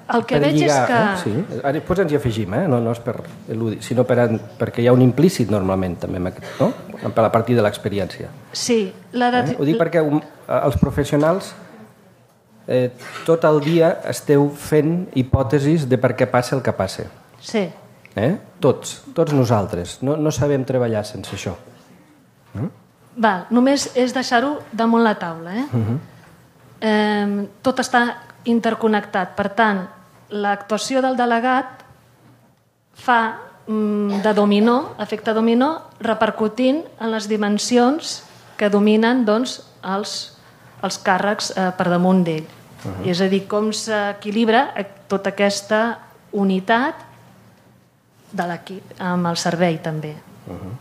el que Per veig lligar, és que... Eh? Sí. Ara, després ens hi afegim, eh? no, no és per eludir, sinó per, perquè hi ha un implícit normalment també, amb aquest, no? A partir de l'experiència. Sí, la de... Eh? Ho dic perquè un, els professionals eh, tot el dia esteu fent hipòtesis de per què passa el que passa. Sí. Eh? Tots, tots nosaltres. No, no sabem treballar sense això. Eh? Val, només és deixar-ho damunt la taula. Eh? Uh -huh. Eh, tot està interconnectat. Per tant, l'actuació del delegat fa mm, de dominó, efecte dominó, repercutint en les dimensions que dominen doncs, els, els càrrecs eh, per damunt d'ell. Uh-huh. És a dir, com s'equilibra tota aquesta unitat de l'equip, amb el servei també. Uh-huh.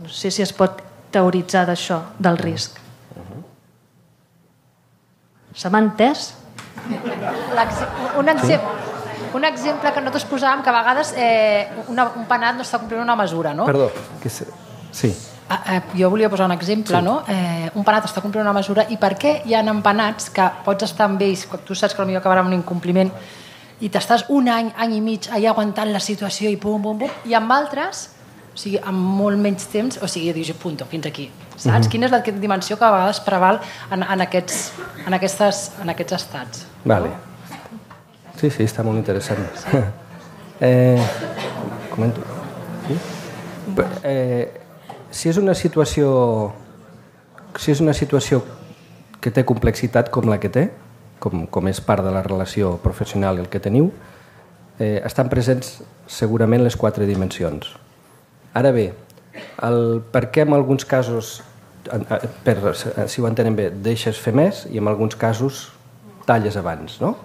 No sé si es pot teoritzar d'això, del risc. Uh-huh. Se m'ha entès? Un exemple, un exemple que nosaltres posàvem, que a vegades eh, una, un penat no està complint una mesura, no? Perdó, que se... sí. Ah, eh, jo volia posar un exemple, sí. no? Eh, un penat està complint una mesura i per què hi ha empenats que pots estar amb ells, quan tu saps que potser acabarà amb un incompliment i t'estàs un any, any i mig allà aguantant la situació i pum, pum, pum, i amb altres, o sigui, amb molt menys temps, o sigui, dius, punto, fins aquí, saps? Mm-hmm. Quina és la dimensió que a vegades preval en, en, aquests, en, aquestes, en aquests estats? Vale. Sí, sí, està molt interessant. Sí. eh, comento. Sí? Eh, si és una situació si és una situació que té complexitat com la que té, com, com és part de la relació professional el que teniu, eh, estan presents segurament les quatre dimensions. Ara bé, el per què en alguns casos, per, si ho entenen bé, deixes fer més i en alguns casos talles abans, no?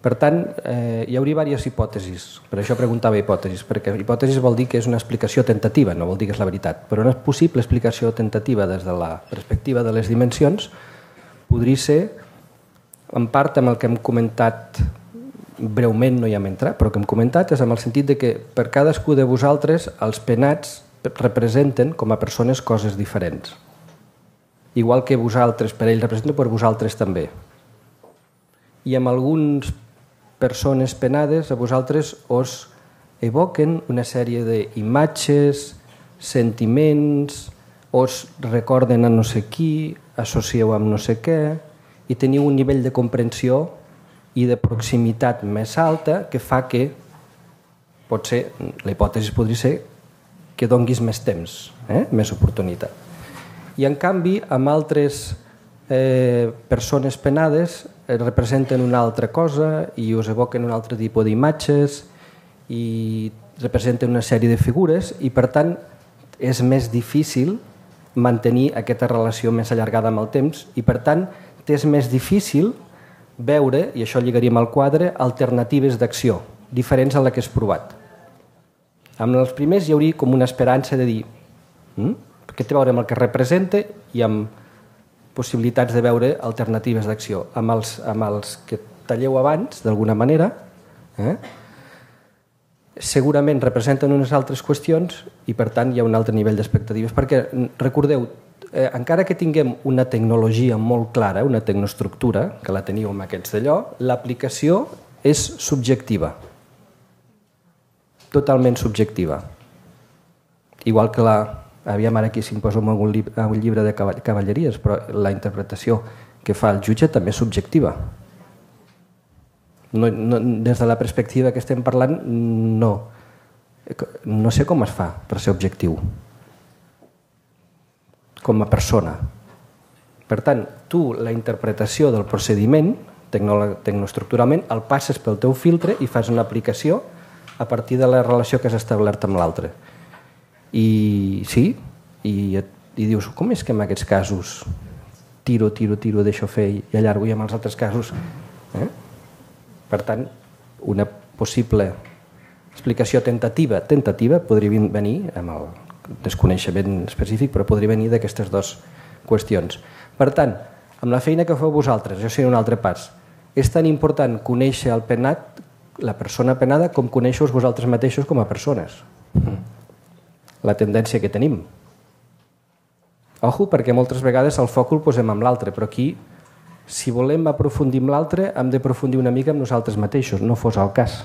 Per tant, eh, hi hauria diverses hipòtesis, per això preguntava hipòtesis, perquè hipòtesis vol dir que és una explicació tentativa, no vol dir que és la veritat, però una possible explicació tentativa des de la perspectiva de les dimensions podria ser, en part amb el que hem comentat breument, no hi hem entrat, però que hem comentat és amb el sentit de que per cadascú de vosaltres els penats representen com a persones coses diferents. Igual que vosaltres, per ells representen, per vosaltres també. I amb algunes persones penades a vosaltres us evoquen una sèrie d'imatges, sentiments, us recorden a no sé qui, associeu amb no sé què, i teniu un nivell de comprensió i de proximitat més alta que fa que, potser, la hipòtesi podria ser que donguis més temps, eh? més oportunitat. I en canvi, amb altres eh, persones penades eh, representen una altra cosa i us evoquen un altre tipus d'imatges i representen una sèrie de figures i, per tant, és més difícil mantenir aquesta relació més allargada amb el temps i, per tant, és més difícil veure, i això lligaríem al quadre, alternatives d'acció, diferents a la que has provat. Amb els primers hi hauria com una esperança de dir hm? què té a veure amb el que representa i amb possibilitats de veure alternatives d'acció. Amb els, amb els que talleu abans, d'alguna manera, eh? segurament representen unes altres qüestions i per tant hi ha un altre nivell d'expectatives, perquè recordeu, eh, encara que tinguem una tecnologia molt clara, una tecnoestructura, que la teniu amb aquests d'allò, l'aplicació és subjectiva, totalment subjectiva. Igual que la, aviam ara aquí si em poso en algun llibre, un llibre de cavalleries, però la interpretació que fa el jutge també és subjectiva. No, no, des de la perspectiva que estem parlant, no. No sé com es fa per ser objectiu. Com a persona. Per tant, tu la interpretació del procediment, tecnoestructuralment, el passes pel teu filtre i fas una aplicació a partir de la relació que has establert amb l'altre. I sí, i, i dius, com és que en aquests casos tiro, tiro, tiro, deixo fer i allargo, i en els altres casos... Eh? Per tant, una possible explicació tentativa, tentativa podria venir, amb el desconeixement específic, però podria venir d'aquestes dues qüestions. Per tant, amb la feina que feu vosaltres, jo seré un altre pas, és tan important conèixer el penat, la persona penada, com conèixer-vos vosaltres mateixos com a persones. La tendència que tenim. Ojo, perquè moltes vegades el foc el posem amb l'altre, però aquí, si volem aprofundir amb l'altre, hem d'aprofundir una mica amb nosaltres mateixos, no fos el cas.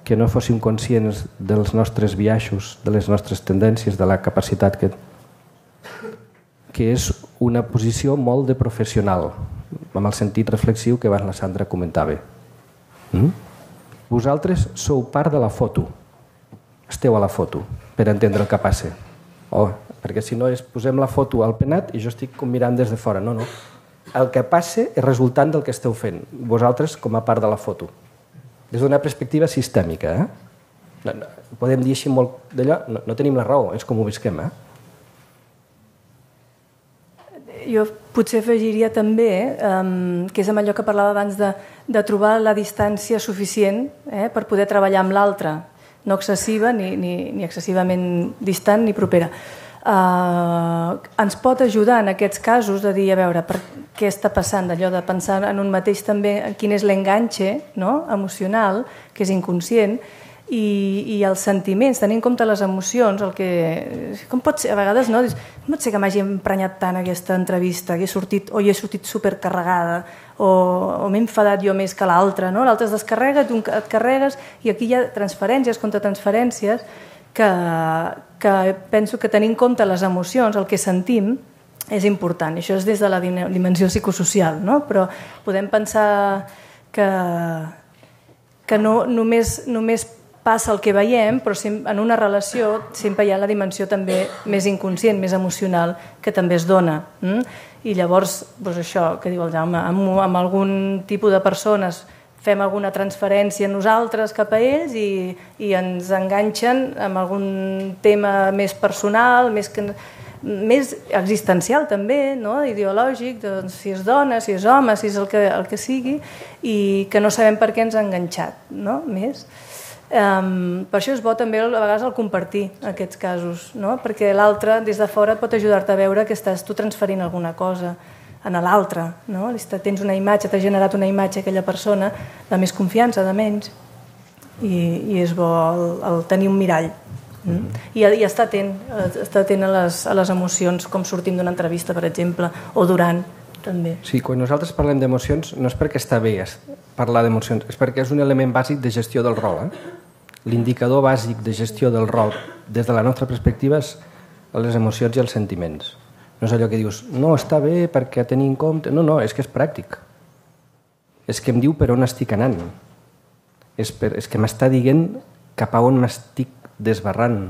Que no fóssim conscients dels nostres biaixos, de les nostres tendències, de la capacitat que... que és una posició molt de professional, amb el sentit reflexiu que abans la Sandra comentava. Mm? Vosaltres sou part de la foto. Esteu a la foto, per entendre el que passa. Oh, perquè si no és posem la foto al penat i jo estic mirant des de fora. No, no. El que passa és resultant del que esteu fent, vosaltres com a part de la foto. Des d'una perspectiva sistèmica. Eh? No, no, podem dir així molt d'allò, no, no tenim la raó, és com ho visquem. Eh? Jo potser afegiria també, eh, que és amb allò que parlava abans de, de trobar la distància suficient eh, per poder treballar amb l'altre, no excessiva ni, ni, ni excessivament distant ni propera. Uh, ens pot ajudar en aquests casos de dir, a veure, per què està passant, d'allò de pensar en un mateix també, quin és l'enganxe no? emocional, que és inconscient, i, i els sentiments, tenint en compte les emocions, el que... Com pot ser, a vegades, no? Com pot ser que m'hagi emprenyat tant aquesta entrevista, que he sortit, o hi he sortit supercarregada, o, o m'he enfadat jo més que l'altre, no? L'altre es descarrega, tu et carregues, i aquí hi ha transferències, contratransferències, que, que penso que tenint en compte les emocions, el que sentim, és important. Això és des de la dimensió psicosocial, no? Però podem pensar que, que no només, només passa el que veiem, però en una relació sempre hi ha la dimensió també més inconscient, més emocional, que també es dona. Mm? I llavors, doncs això que diu el Jaume, amb, amb algun tipus de persones fem alguna transferència nosaltres cap a ells i, i ens enganxen amb algun tema més personal, més, que, més existencial també, no? Ideològic, doncs, si és dona, si és home, si és el que, el que sigui, i que no sabem per què ens ha enganxat, no? Més. Um, per això és bo també a vegades el compartir aquests casos, no? Perquè l'altre des de fora pot ajudar-te a veure que estàs tu transferint alguna cosa en l'altre, no? Tens una imatge, t'ha generat una imatge aquella persona de més confiança, de menys, i, i és bo el, el tenir un mirall. Mm? I, i estar atent, estar atent a les, a les emocions, com sortim d'una entrevista, per exemple, o durant, també. Sí, quan nosaltres parlem d'emocions no és perquè està bé parlar d'emocions, és perquè és un element bàsic de gestió del rol. Eh? L'indicador bàsic de gestió del rol, des de la nostra perspectiva, és les emocions i els sentiments. No és allò que dius, no, està bé perquè tenir en compte... No, no, és que és pràctic. És que em diu per on estic anant. És, per, és que m'està dient cap a on m'estic desbarrant.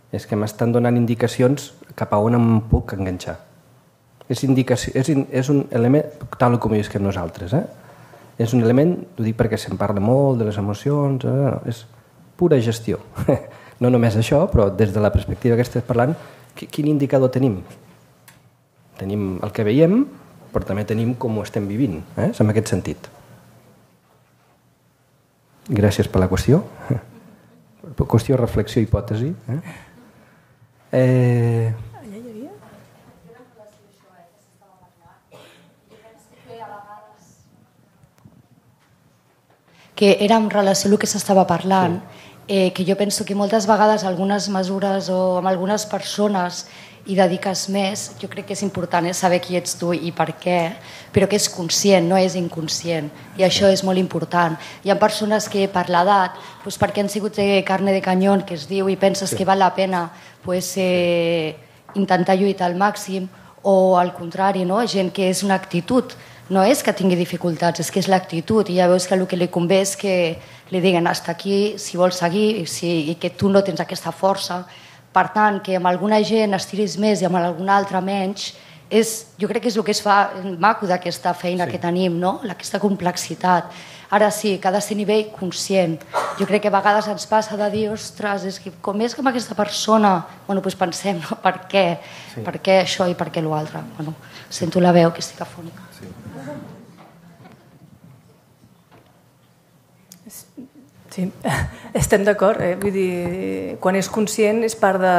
És que m'estan donant indicacions cap a on em puc enganxar. És, indicació, és, és un element, tal com ho que nosaltres, eh? És un element, ho dic perquè se'n parla molt de les emocions, eh? És pura gestió. No només això, però des de la perspectiva que estàs parlant, quin indicador tenim? Tenim el que veiem, però també tenim com ho estem vivint, eh? És en aquest sentit. Gràcies per la qüestió. Qüestió, reflexió, hipòtesi. Eh? Eh... que era en relació al que s'estava parlant, eh, que jo penso que moltes vegades algunes mesures o amb algunes persones hi dediques més, jo crec que és important eh, saber qui ets tu i per què, però que és conscient, no és inconscient, i això és molt important. Hi ha persones que per l'edat, doncs perquè han sigut de carne de canyón, que es diu, i penses sí. que val la pena pues, eh, intentar lluitar al màxim, o al contrari, no? Gent que és una actitud, no és que tingui dificultats, és que és l'actitud, i ja veus que el que li convé és que li diguen hasta aquí, si vols seguir, i, si, i que tu no tens aquesta força. Per tant, que amb alguna gent estiris més i amb alguna altra menys, és, jo crec que és el que es fa maco d'aquesta feina sí. que tenim, no? Aquesta complexitat. Ara sí, que ha de ser a nivell conscient. Jo crec que a vegades ens passa de dir, ostres, és que com és que amb aquesta persona, bueno, doncs pensem, no? Per què? Sí. Per què això i per què l'altre? Bueno, sento la veu que estic afònica. Sí. Sí, estem d'acord. Eh? Vull dir, quan és conscient és part de...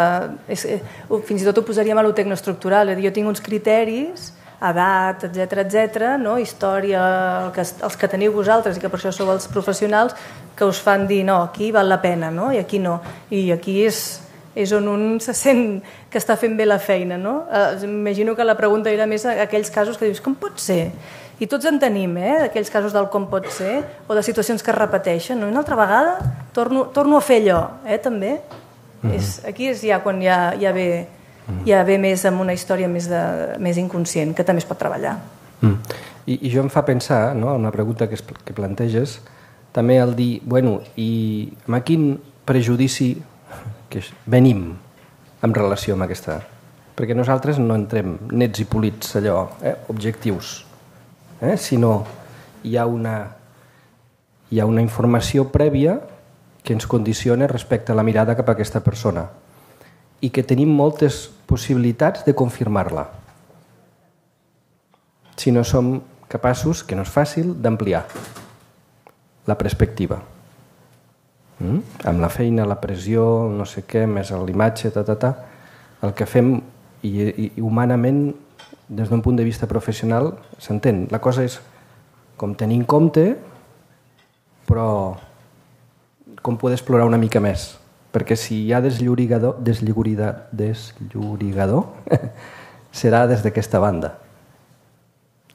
És, eh, fins i tot ho posaríem a lo tecnoestructural. Jo tinc uns criteris, edat, etcètera, etcètera, no? Història, el que, els que teniu vosaltres i que per això sou els professionals, que us fan dir, no, aquí val la pena, no? I aquí no. I aquí és, és on un se sent que està fent bé la feina, no? Eh, imagino que la pregunta era més a aquells casos que dius, com pot ser? I tots en tenim, eh, d'aquells casos del com pot ser, o de situacions que es repeteixen. No? Una altra vegada torno, torno a fer allò, eh, també. Mm-hmm. és, aquí és ja quan ja, ja, ve, ja ve més amb una història més, de, més inconscient, que també es pot treballar. Mm. I, I jo em fa pensar, no, una pregunta que, es, que planteges, també el dir, bueno, i amb quin prejudici que venim en relació amb aquesta... Perquè nosaltres no entrem nets i polits, allò, eh, objectius, Eh? sinó hi ha, una, hi ha una informació prèvia que ens condiciona respecte a la mirada cap a aquesta persona i que tenim moltes possibilitats de confirmar-la si no som capaços, que no és fàcil, d'ampliar la perspectiva. Mm? Amb la feina, la pressió, no sé què, més l'imatge, ta, ta, ta, el que fem i, i, i humanament des d'un punt de vista professional, s'entén. La cosa és com tenir en compte, però com poder explorar una mica més. Perquè si hi ha desllorigador, desllorigador, desllorigador serà des d'aquesta banda,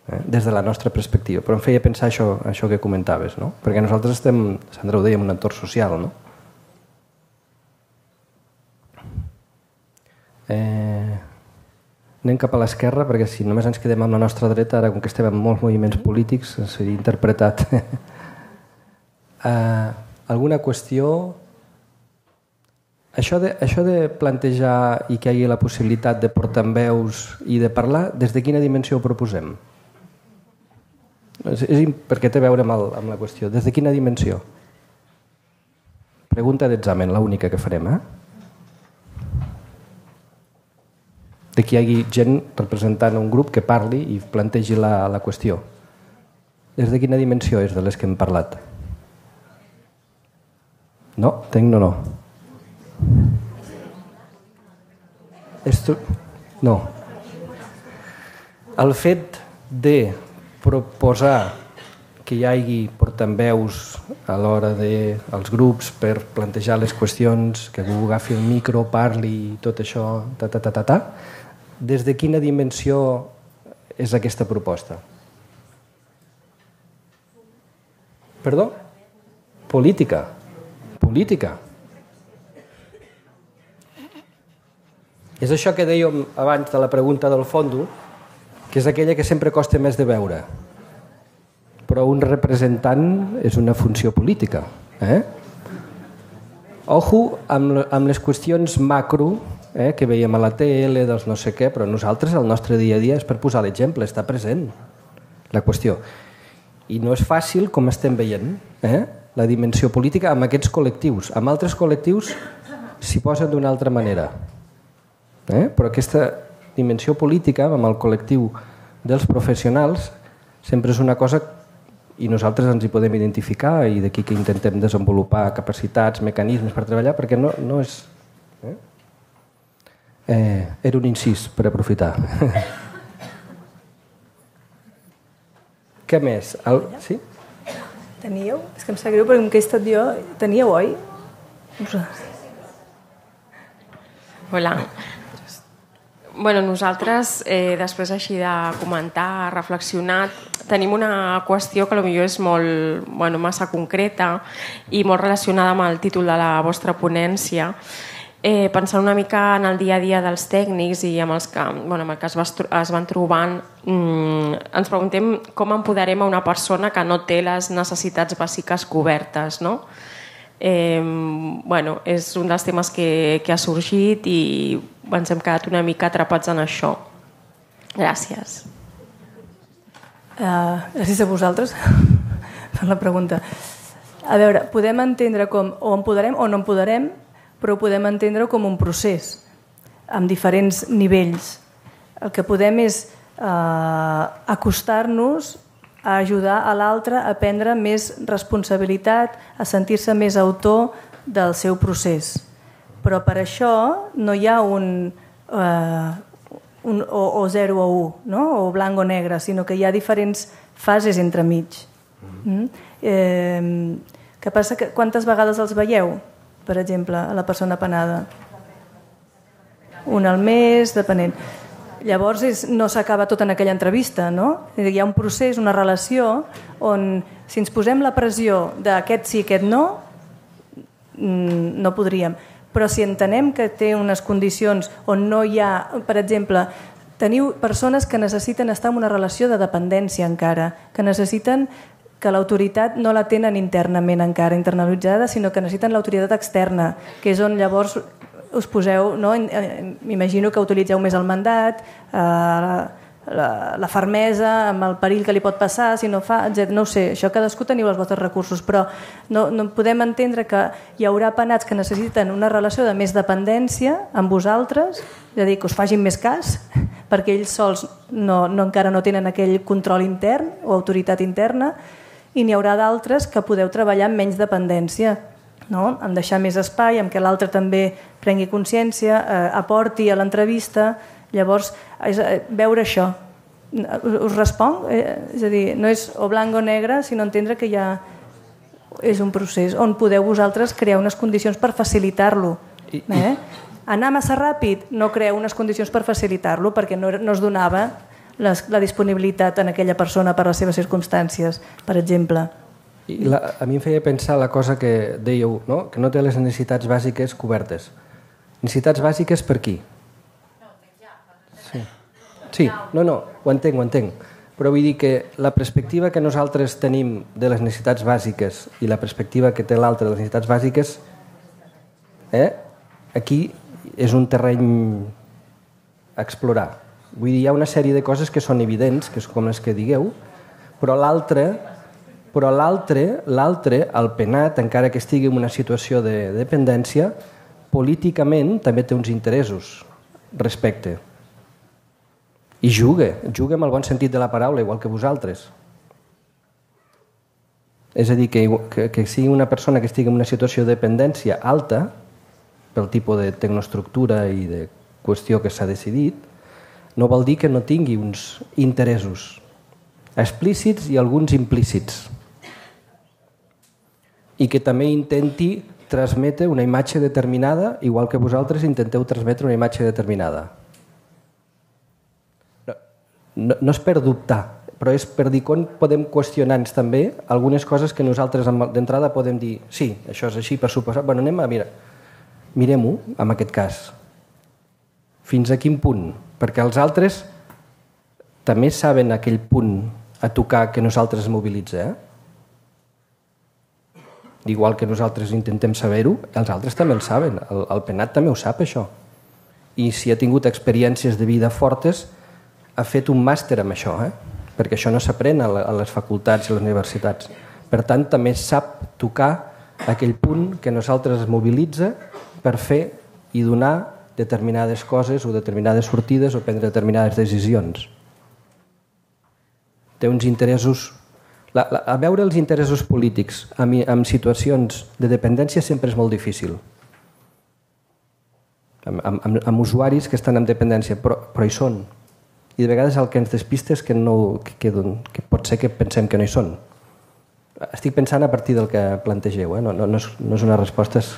eh? des de la nostra perspectiva. Però em feia pensar això, això que comentaves, no? Perquè nosaltres estem, Sandra ho deia, en un entorn social, no? Eh... Anem cap a l'esquerra, perquè si només ens quedem amb la nostra dreta, ara com que estem en molts moviments polítics, seria interpretat. uh, alguna qüestió? Això de, això de plantejar i que hi hagi la possibilitat de portaveus i de parlar, des de quina dimensió ho proposem? És, és, perquè té a veure amb, el, amb la qüestió. Des de quina dimensió? Pregunta d'examen, l'única que farem, eh? De que hi hagi gent representant un grup que parli i plantegi la, la qüestió. Des de quina dimensió és de les que hem parlat? No? Tenc no, no. Estru... No. El fet de proposar que hi hagi portaveus a l'hora dels grups per plantejar les qüestions, que algú agafi el micro, parli i tot això, ta, ta, ta, ta, ta, des de quina dimensió és aquesta proposta? Perdó? Política. Política. És això que dèiem abans de la pregunta del fondo, que és aquella que sempre costa més de veure. Però un representant és una funció política. Eh? Ojo amb, amb les qüestions macro, eh, que veiem a la tele, dels no sé què, però nosaltres el nostre dia a dia és per posar l'exemple, està present la qüestió. I no és fàcil, com estem veient, eh, la dimensió política amb aquests col·lectius. Amb altres col·lectius s'hi posen d'una altra manera. Eh? Però aquesta dimensió política amb el col·lectiu dels professionals sempre és una cosa i nosaltres ens hi podem identificar i d'aquí que intentem desenvolupar capacitats, mecanismes per treballar, perquè no, no és... Eh? Eh, era un incís per aprofitar. Què més? El... Sí? Teníeu? És que em sap greu perquè com que he estat jo... Teníeu, oi? Hola. Bueno, nosaltres, eh, després així de comentar, reflexionar, tenim una qüestió que potser és molt, bueno, massa concreta i molt relacionada amb el títol de la vostra ponència. Eh, pensant una mica en el dia a dia dels tècnics i amb els que, bueno, amb el que es, va, es van trobant, mmm, ens preguntem com empoderem a una persona que no té les necessitats bàsiques cobertes, no? Eh, bueno, és un dels temes que, que ha sorgit i ens hem quedat una mica atrapats en això. Gràcies. Uh, gràcies a vosaltres per la pregunta. A veure, podem entendre com o empoderem o no empoderem, però ho podem entendre com un procés amb diferents nivells. El que podem és uh, acostar-nos a ajudar a l'altre a prendre més responsabilitat, a sentir-se més autor del seu procés. Però per això no hi ha un, uh, un o, o zero o un, no? O blanc o negre, sinó que hi ha diferents fases entremig. Mm? Eh, què passa? Que quantes vegades els veieu, per exemple, a la persona penada? Un al mes, depenent. Llavors és, no s'acaba tot en aquella entrevista, no? Hi ha un procés, una relació on si ens posem la pressió d'aquest sí, aquest no, no podríem. Però si entenem que té unes condicions on no hi ha, per exemple, teniu persones que necessiten estar en una relació de dependència encara, que necessiten que l'autoritat no la tenen internament encara internalitzada, sinó que necessiten l'autoritat externa, que és on llavors us poseu, no? M'imagino que utilitzeu més el mandat, eh, la, la fermesa, amb el perill que li pot passar, si no fa, etcètera. No ho sé, això cadascú teniu els vostres recursos, però no, no podem entendre que hi haurà penats que necessiten una relació de més dependència amb vosaltres, és a dir, que us facin més cas, perquè ells sols no, no, encara no tenen aquell control intern o autoritat interna, i n'hi haurà d'altres que podeu treballar amb menys dependència, no? En deixar més espai, en què l'altre també prengui consciència, eh, aporti a l'entrevista. Llavors, és, eh, veure això. Us, us responc? Eh, és a dir, no és o blanc o negre, sinó entendre que ja és un procés on podeu vosaltres crear unes condicions per facilitar-lo. Eh? Anar massa ràpid, no creeu unes condicions per facilitar-lo, perquè no, no es donava les, la disponibilitat en aquella persona per les seves circumstàncies, per exemple. I la, a mi em feia pensar la cosa que dèieu, no? Que no té les necessitats bàsiques cobertes. Necessitats bàsiques per qui? Sí, sí, no, no, ho entenc, ho entenc. Però vull dir que la perspectiva que nosaltres tenim de les necessitats bàsiques i la perspectiva que té l'altre de les necessitats bàsiques, eh? Aquí és un terreny a explorar. Vull dir, hi ha una sèrie de coses que són evidents, que és com les que digueu, però l'altre... Però l'altre, l'altre, el penat, encara que estigui en una situació de dependència, políticament també té uns interessos respecte. I juga, juga amb el bon sentit de la paraula, igual que vosaltres. És a dir, que, que, que sigui una persona que estigui en una situació de dependència alta, pel tipus de tecnoestructura i de qüestió que s'ha decidit, no vol dir que no tingui uns interessos explícits i alguns implícits. I que també intenti transmetre una imatge determinada, igual que vosaltres intenteu transmetre una imatge determinada. No, no, no és per dubtar, però és per dir com podem qüestionar-nos també algunes coses que nosaltres d'entrada podem dir sí, això és així per suposar. Bueno, anem a mirar. Mirem-ho, en aquest cas. Fins a quin punt? Perquè els altres també saben aquell punt a tocar que nosaltres es mobilitza, eh? Igual que nosaltres intentem saber-ho, els altres també el saben, el, el penat també ho sap, això. I si ha tingut experiències de vida fortes, ha fet un màster amb això, eh? Perquè això no s'aprèn a, a les facultats i a les universitats. Per tant, també sap tocar aquell punt que nosaltres es mobilitza per fer i donar determinades coses o determinades sortides o prendre determinades decisions. Té uns interessos... La, la, a veure els interessos polítics en, en situacions de dependència sempre és molt difícil. Amb, amb, amb usuaris que estan en dependència, però, però hi són. I de vegades el que ens despista és que, no, que, que, que pot ser que pensem que no hi són. estic pensant a partir del que plantegeu, eh? no, no, no, és, no és una resposta, és,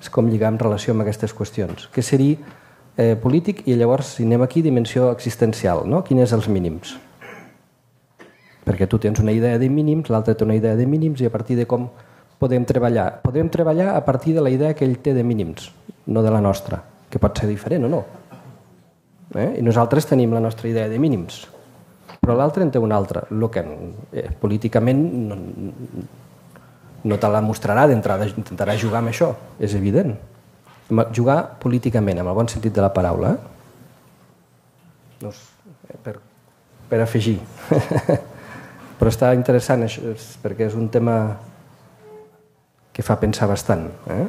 és com lligar en relació amb aquestes qüestions. Què seria eh, polític i llavors, si anem aquí, dimensió existencial, no? Quins són els mínims? Perquè tu tens una idea de mínims, l'altre té una idea de mínims i a partir de com podem treballar. Podem treballar a partir de la idea que ell té de mínims, no de la nostra, que pot ser diferent o no. Eh? I nosaltres tenim la nostra idea de mínims, però l'altre en té una altra. El que eh, políticament no, no te la mostrarà d'entrada, intentarà jugar amb això, és evident. Jugar políticament, amb el bon sentit de la paraula. Eh? No, per, per afegir. Però està interessant això, perquè és un tema que fa pensar bastant. Eh?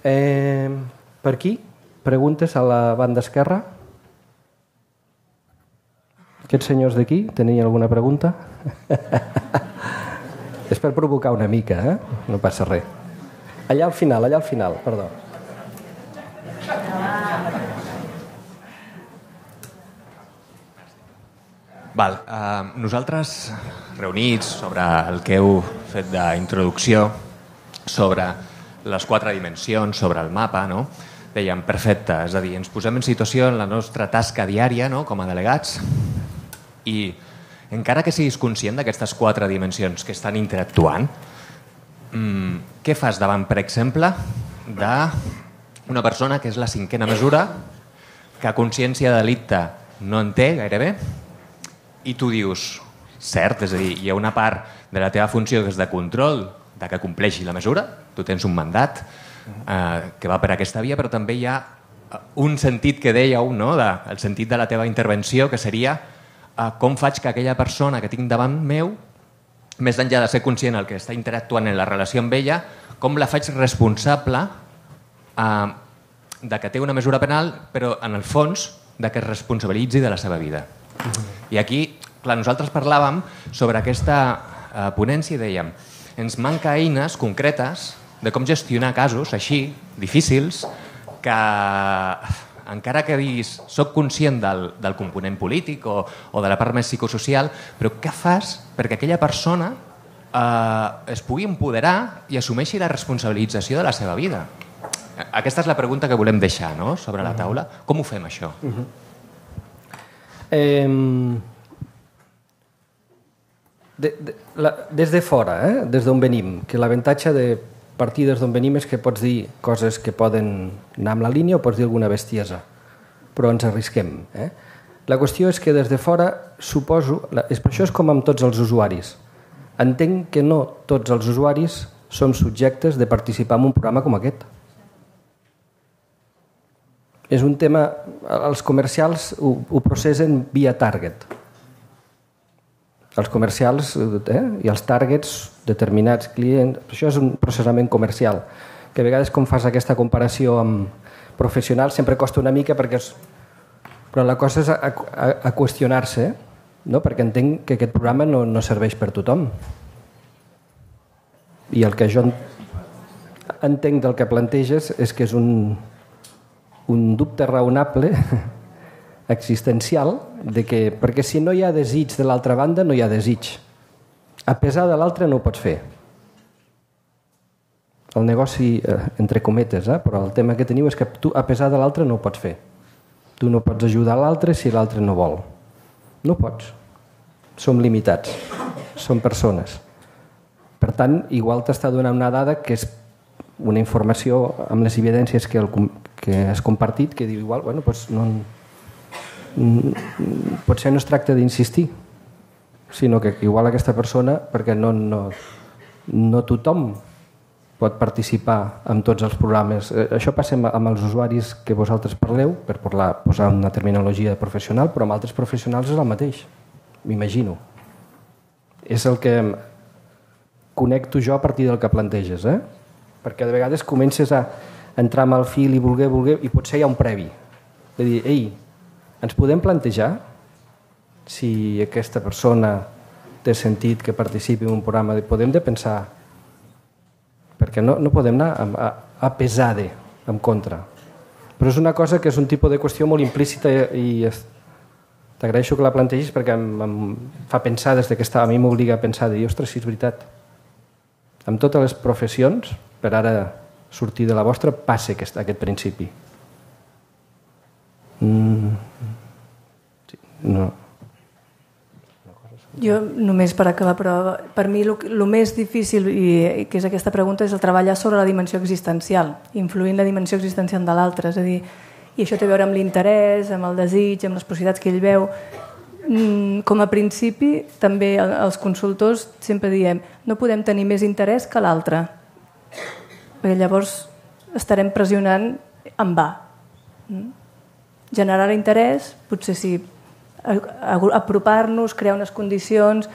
Eh, per aquí, preguntes a la banda esquerra? Aquests senyors d'aquí, tenien alguna pregunta? És per provocar una mica, eh? No passa res. Allà al final, allà al final, perdó. Val, uh, nosaltres reunits sobre el que heu fet d'introducció, sobre les quatre dimensions, sobre el mapa, no? Dèiem, perfecte, és a dir, ens posem en situació en la nostra tasca diària, no?, com a delegats, i encara que siguis conscient d'aquestes quatre dimensions que estan interactuant, mmm, què fas davant, per exemple, d'una persona que és la cinquena mesura, que consciència de delicte no en té gairebé, i tu dius, cert, és a dir, hi ha una part de la teva funció que és de control, de que compleixi la mesura, tu tens un mandat eh, que va per aquesta via, però també hi ha un sentit que dèieu, no?, de, el sentit de la teva intervenció, que seria eh, com faig que aquella persona que tinc davant meu, més enllà de ser conscient el que està interactuant en la relació amb ella, com la faig responsable eh, de que té una mesura penal, però en el fons de que es responsabilitzi de la seva vida. I aquí, clar, nosaltres parlàvem sobre aquesta eh, ponència i dèiem, ens manca eines concretes de com gestionar casos així, difícils, que encara que diguis soc conscient del, del component polític o, o de la part més psicosocial, però què fas perquè aquella persona eh, es pugui empoderar i assumeixi la responsabilització de la seva vida? Aquesta és la pregunta que volem deixar, no?, sobre la taula. Com ho fem, això? Uh-huh. Eh, de, de, la, des de fora, eh? Des d'on venim, que l'avantatge de partir des d'on venim és que pots dir coses que poden anar amb la línia o pots dir alguna bestiesa, però ens arrisquem. Eh? La qüestió és que des de fora, suposo, és per això és com amb tots els usuaris. Entenc que no tots els usuaris som subjectes de participar en un programa com aquest. És un tema, els comercials ho, ho processen via target. Els comercials eh, i els targets, determinats clients, això és un processament comercial, que a vegades com fas aquesta comparació amb professionals sempre costa una mica, perquè és... però la cosa és a, a, a qüestionar-se, no? Perquè entenc que aquest programa no, no serveix per tothom. I el que jo entenc del que planteges és que és un... un dubte raonable existencial de que, perquè si no hi ha desig de l'altra banda no hi ha desig, a pesar de l'altre no ho pots fer. El negoci, eh, entre cometes, eh, però el tema que teniu és que tu a pesar de l'altre no ho pots fer. Tu no pots ajudar l'altre si l'altre no vol. No pots. Som limitats, som persones. Per tant, igual t'està donant una dada que és una informació amb les evidències que, el, que has compartit, que diu igual, bueno, doncs no, potser no es tracta d'insistir, sinó que igual aquesta persona, perquè no, no, no tothom pot participar en tots els programes. Això passa amb els usuaris que vosaltres parleu, per parlar, posar una terminologia professional, però amb altres professionals és el mateix, m'imagino. És el que connecto jo a partir del que planteges, eh? Perquè de vegades comences a entrar amb el fil i voler, voler, i potser hi ha un previ. De dir, ei, ens podem plantejar si aquesta persona té sentit que participi en un programa, podem de pensar, perquè no, no podem anar a, a, a pesar de, en contra. Però és una cosa que és un tipus de qüestió molt implícita i T'agraeixo que la plantegis perquè em, em fa pensar des que estava, a mi m'obliga a pensar de dir, ostres, si és veritat. Amb totes les professions, per ara sortir de la vostra, passa aquest, aquest principi. Mm. Sí, no. Jo només per acabar, però per mi el més difícil, i que és aquesta pregunta, és el treballar sobre la dimensió existencial, influir en la dimensió existencial de l'altre, és a dir, i això té a veure amb l'interès, amb el desig, amb les possibilitats que ell veu. Com a principi, també els consultors sempre diem no podem tenir més interès que l'altre, perquè llavors estarem pressionant en va. Generar interès, potser sí, apropar-nos, crear unes condicions,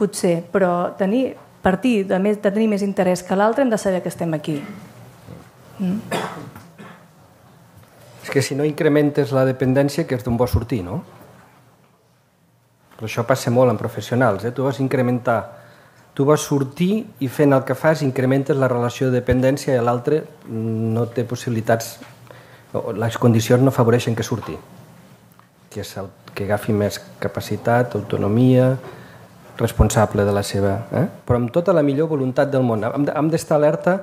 potser, però tenir, partir de, més, de tenir més interès que l'altre hem de saber que estem aquí. Mm. És que si no incrementes la dependència, que és d'on vols sortir, no? Però això passa molt en professionals, eh? Tu vas incrementar, tu vas sortir i fent el que fas incrementes la relació de dependència i l'altre no té possibilitats, les condicions no afavoreixen que surti, que és el que agafi més capacitat, autonomia, responsable de la seva... Eh? Però amb tota la millor voluntat del món. Hem d'estar alerta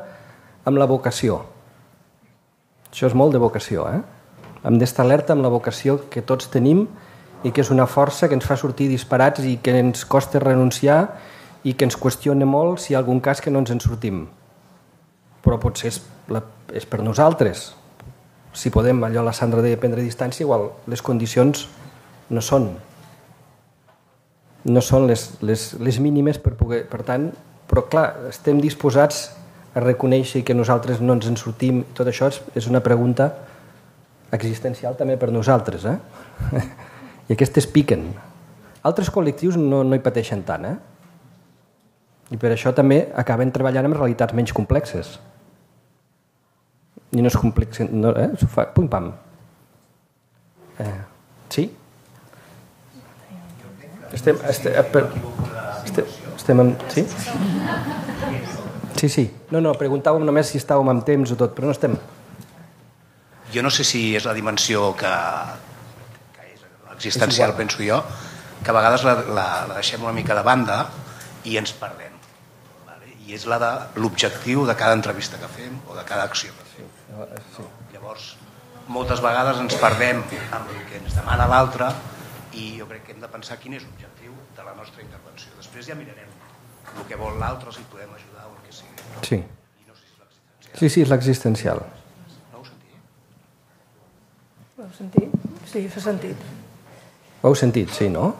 amb la vocació. Això és molt de vocació, eh? Hem d'estar alerta amb la vocació que tots tenim i que és una força que ens fa sortir disparats i que ens costa renunciar i que ens qüestiona molt si hi ha algun cas que no ens en sortim. Però potser és, la, és per nosaltres. Si podem, allò la Sandra deia, prendre distància, igual les condicions no són no són les, les, les mínimes per poder... Per tant, però clar, estem disposats a reconèixer que nosaltres no ens en sortim. Tot això és, és una pregunta existencial també per nosaltres, eh? I aquestes piquen. Altres col·lectius no, no hi pateixen tant, eh? I per això també acaben treballant amb realitats menys complexes. I no és complex, no, eh? S'ho fa, pum, pam. Eh, sí? Estem, estem, per, estem, estem en... Sí? Sí, sí. No, no, preguntàvem només si estàvem amb temps o tot, però no estem... Jo no sé si és la dimensió que, que és existencial, penso jo, que a vegades la, la, la deixem una mica de banda i ens perdem. Vale? I és la de l'objectiu de cada entrevista que fem o de cada acció que fem. Sí. Llavors, moltes vegades ens perdem amb el que ens demana l'altre i jo crec que hem de pensar quin és l'objectiu de la nostra intervenció. Després ja mirarem el que vol l'altre, si podem ajudar o el que sigui. Sí. I no sé si és l'existencial. Sí, sí, és l'existencial. No ho sentia? Ho heu sentit? Sí, s'ha sentit. Ho heu sentit, sí, no?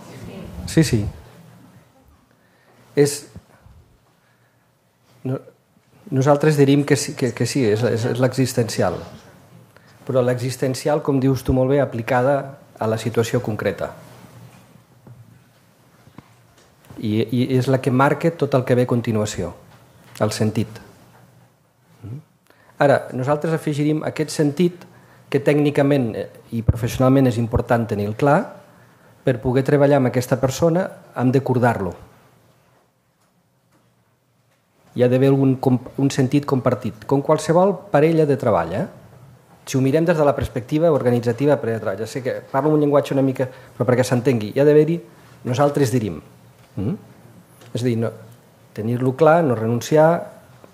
Sí, sí. És... No... Nosaltres diríem que sí, que, que sí és, és, és l'existencial. Però l'existencial, com dius tu molt bé, aplicada a la situació concreta. I, i és la que marca tot el que ve a continuació, el sentit. Ara, nosaltres afegiríem aquest sentit que tècnicament i professionalment és important tenir-lo clar. Per poder treballar amb aquesta persona hem d'acordar-lo. Hi ha d'haver un, un sentit compartit, com qualsevol parella de treball. Eh? Si ho mirem des de la perspectiva organitzativa de parella de treball, ja sé que parlo un llenguatge una mica, però perquè s'entengui, hi ha d'haver-hi, nosaltres dirim. Mm? És a dir, no, tenir-lo clar, no renunciar,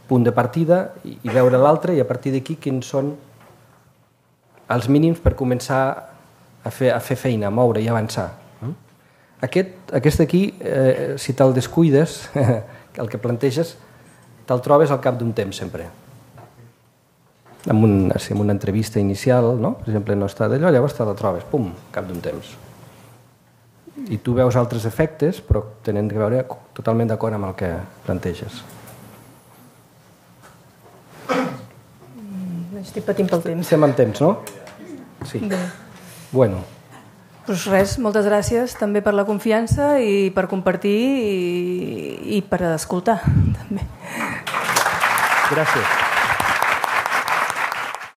punt de partida i, i veure l'altre i a partir d'aquí quins són els mínims per començar a fer, a fer feina, a moure i avançar. Mm? Aquest, aquest aquí, eh, si te'l descuides, el que planteges, te'l trobes al cap d'un temps sempre. En, un, en una entrevista inicial, no? Per exemple, no està d'allò, llavors te la trobes, pum, al cap d'un temps. I tu veus altres efectes, però tenen que veure totalment d'acord amb el que planteges. Mm, estic patint pel temps. Estem en temps, no? Sí. Bé. Bueno. Pues res, moltes gràcies també per la confiança i per compartir i, i per escoltar també. Gràcies.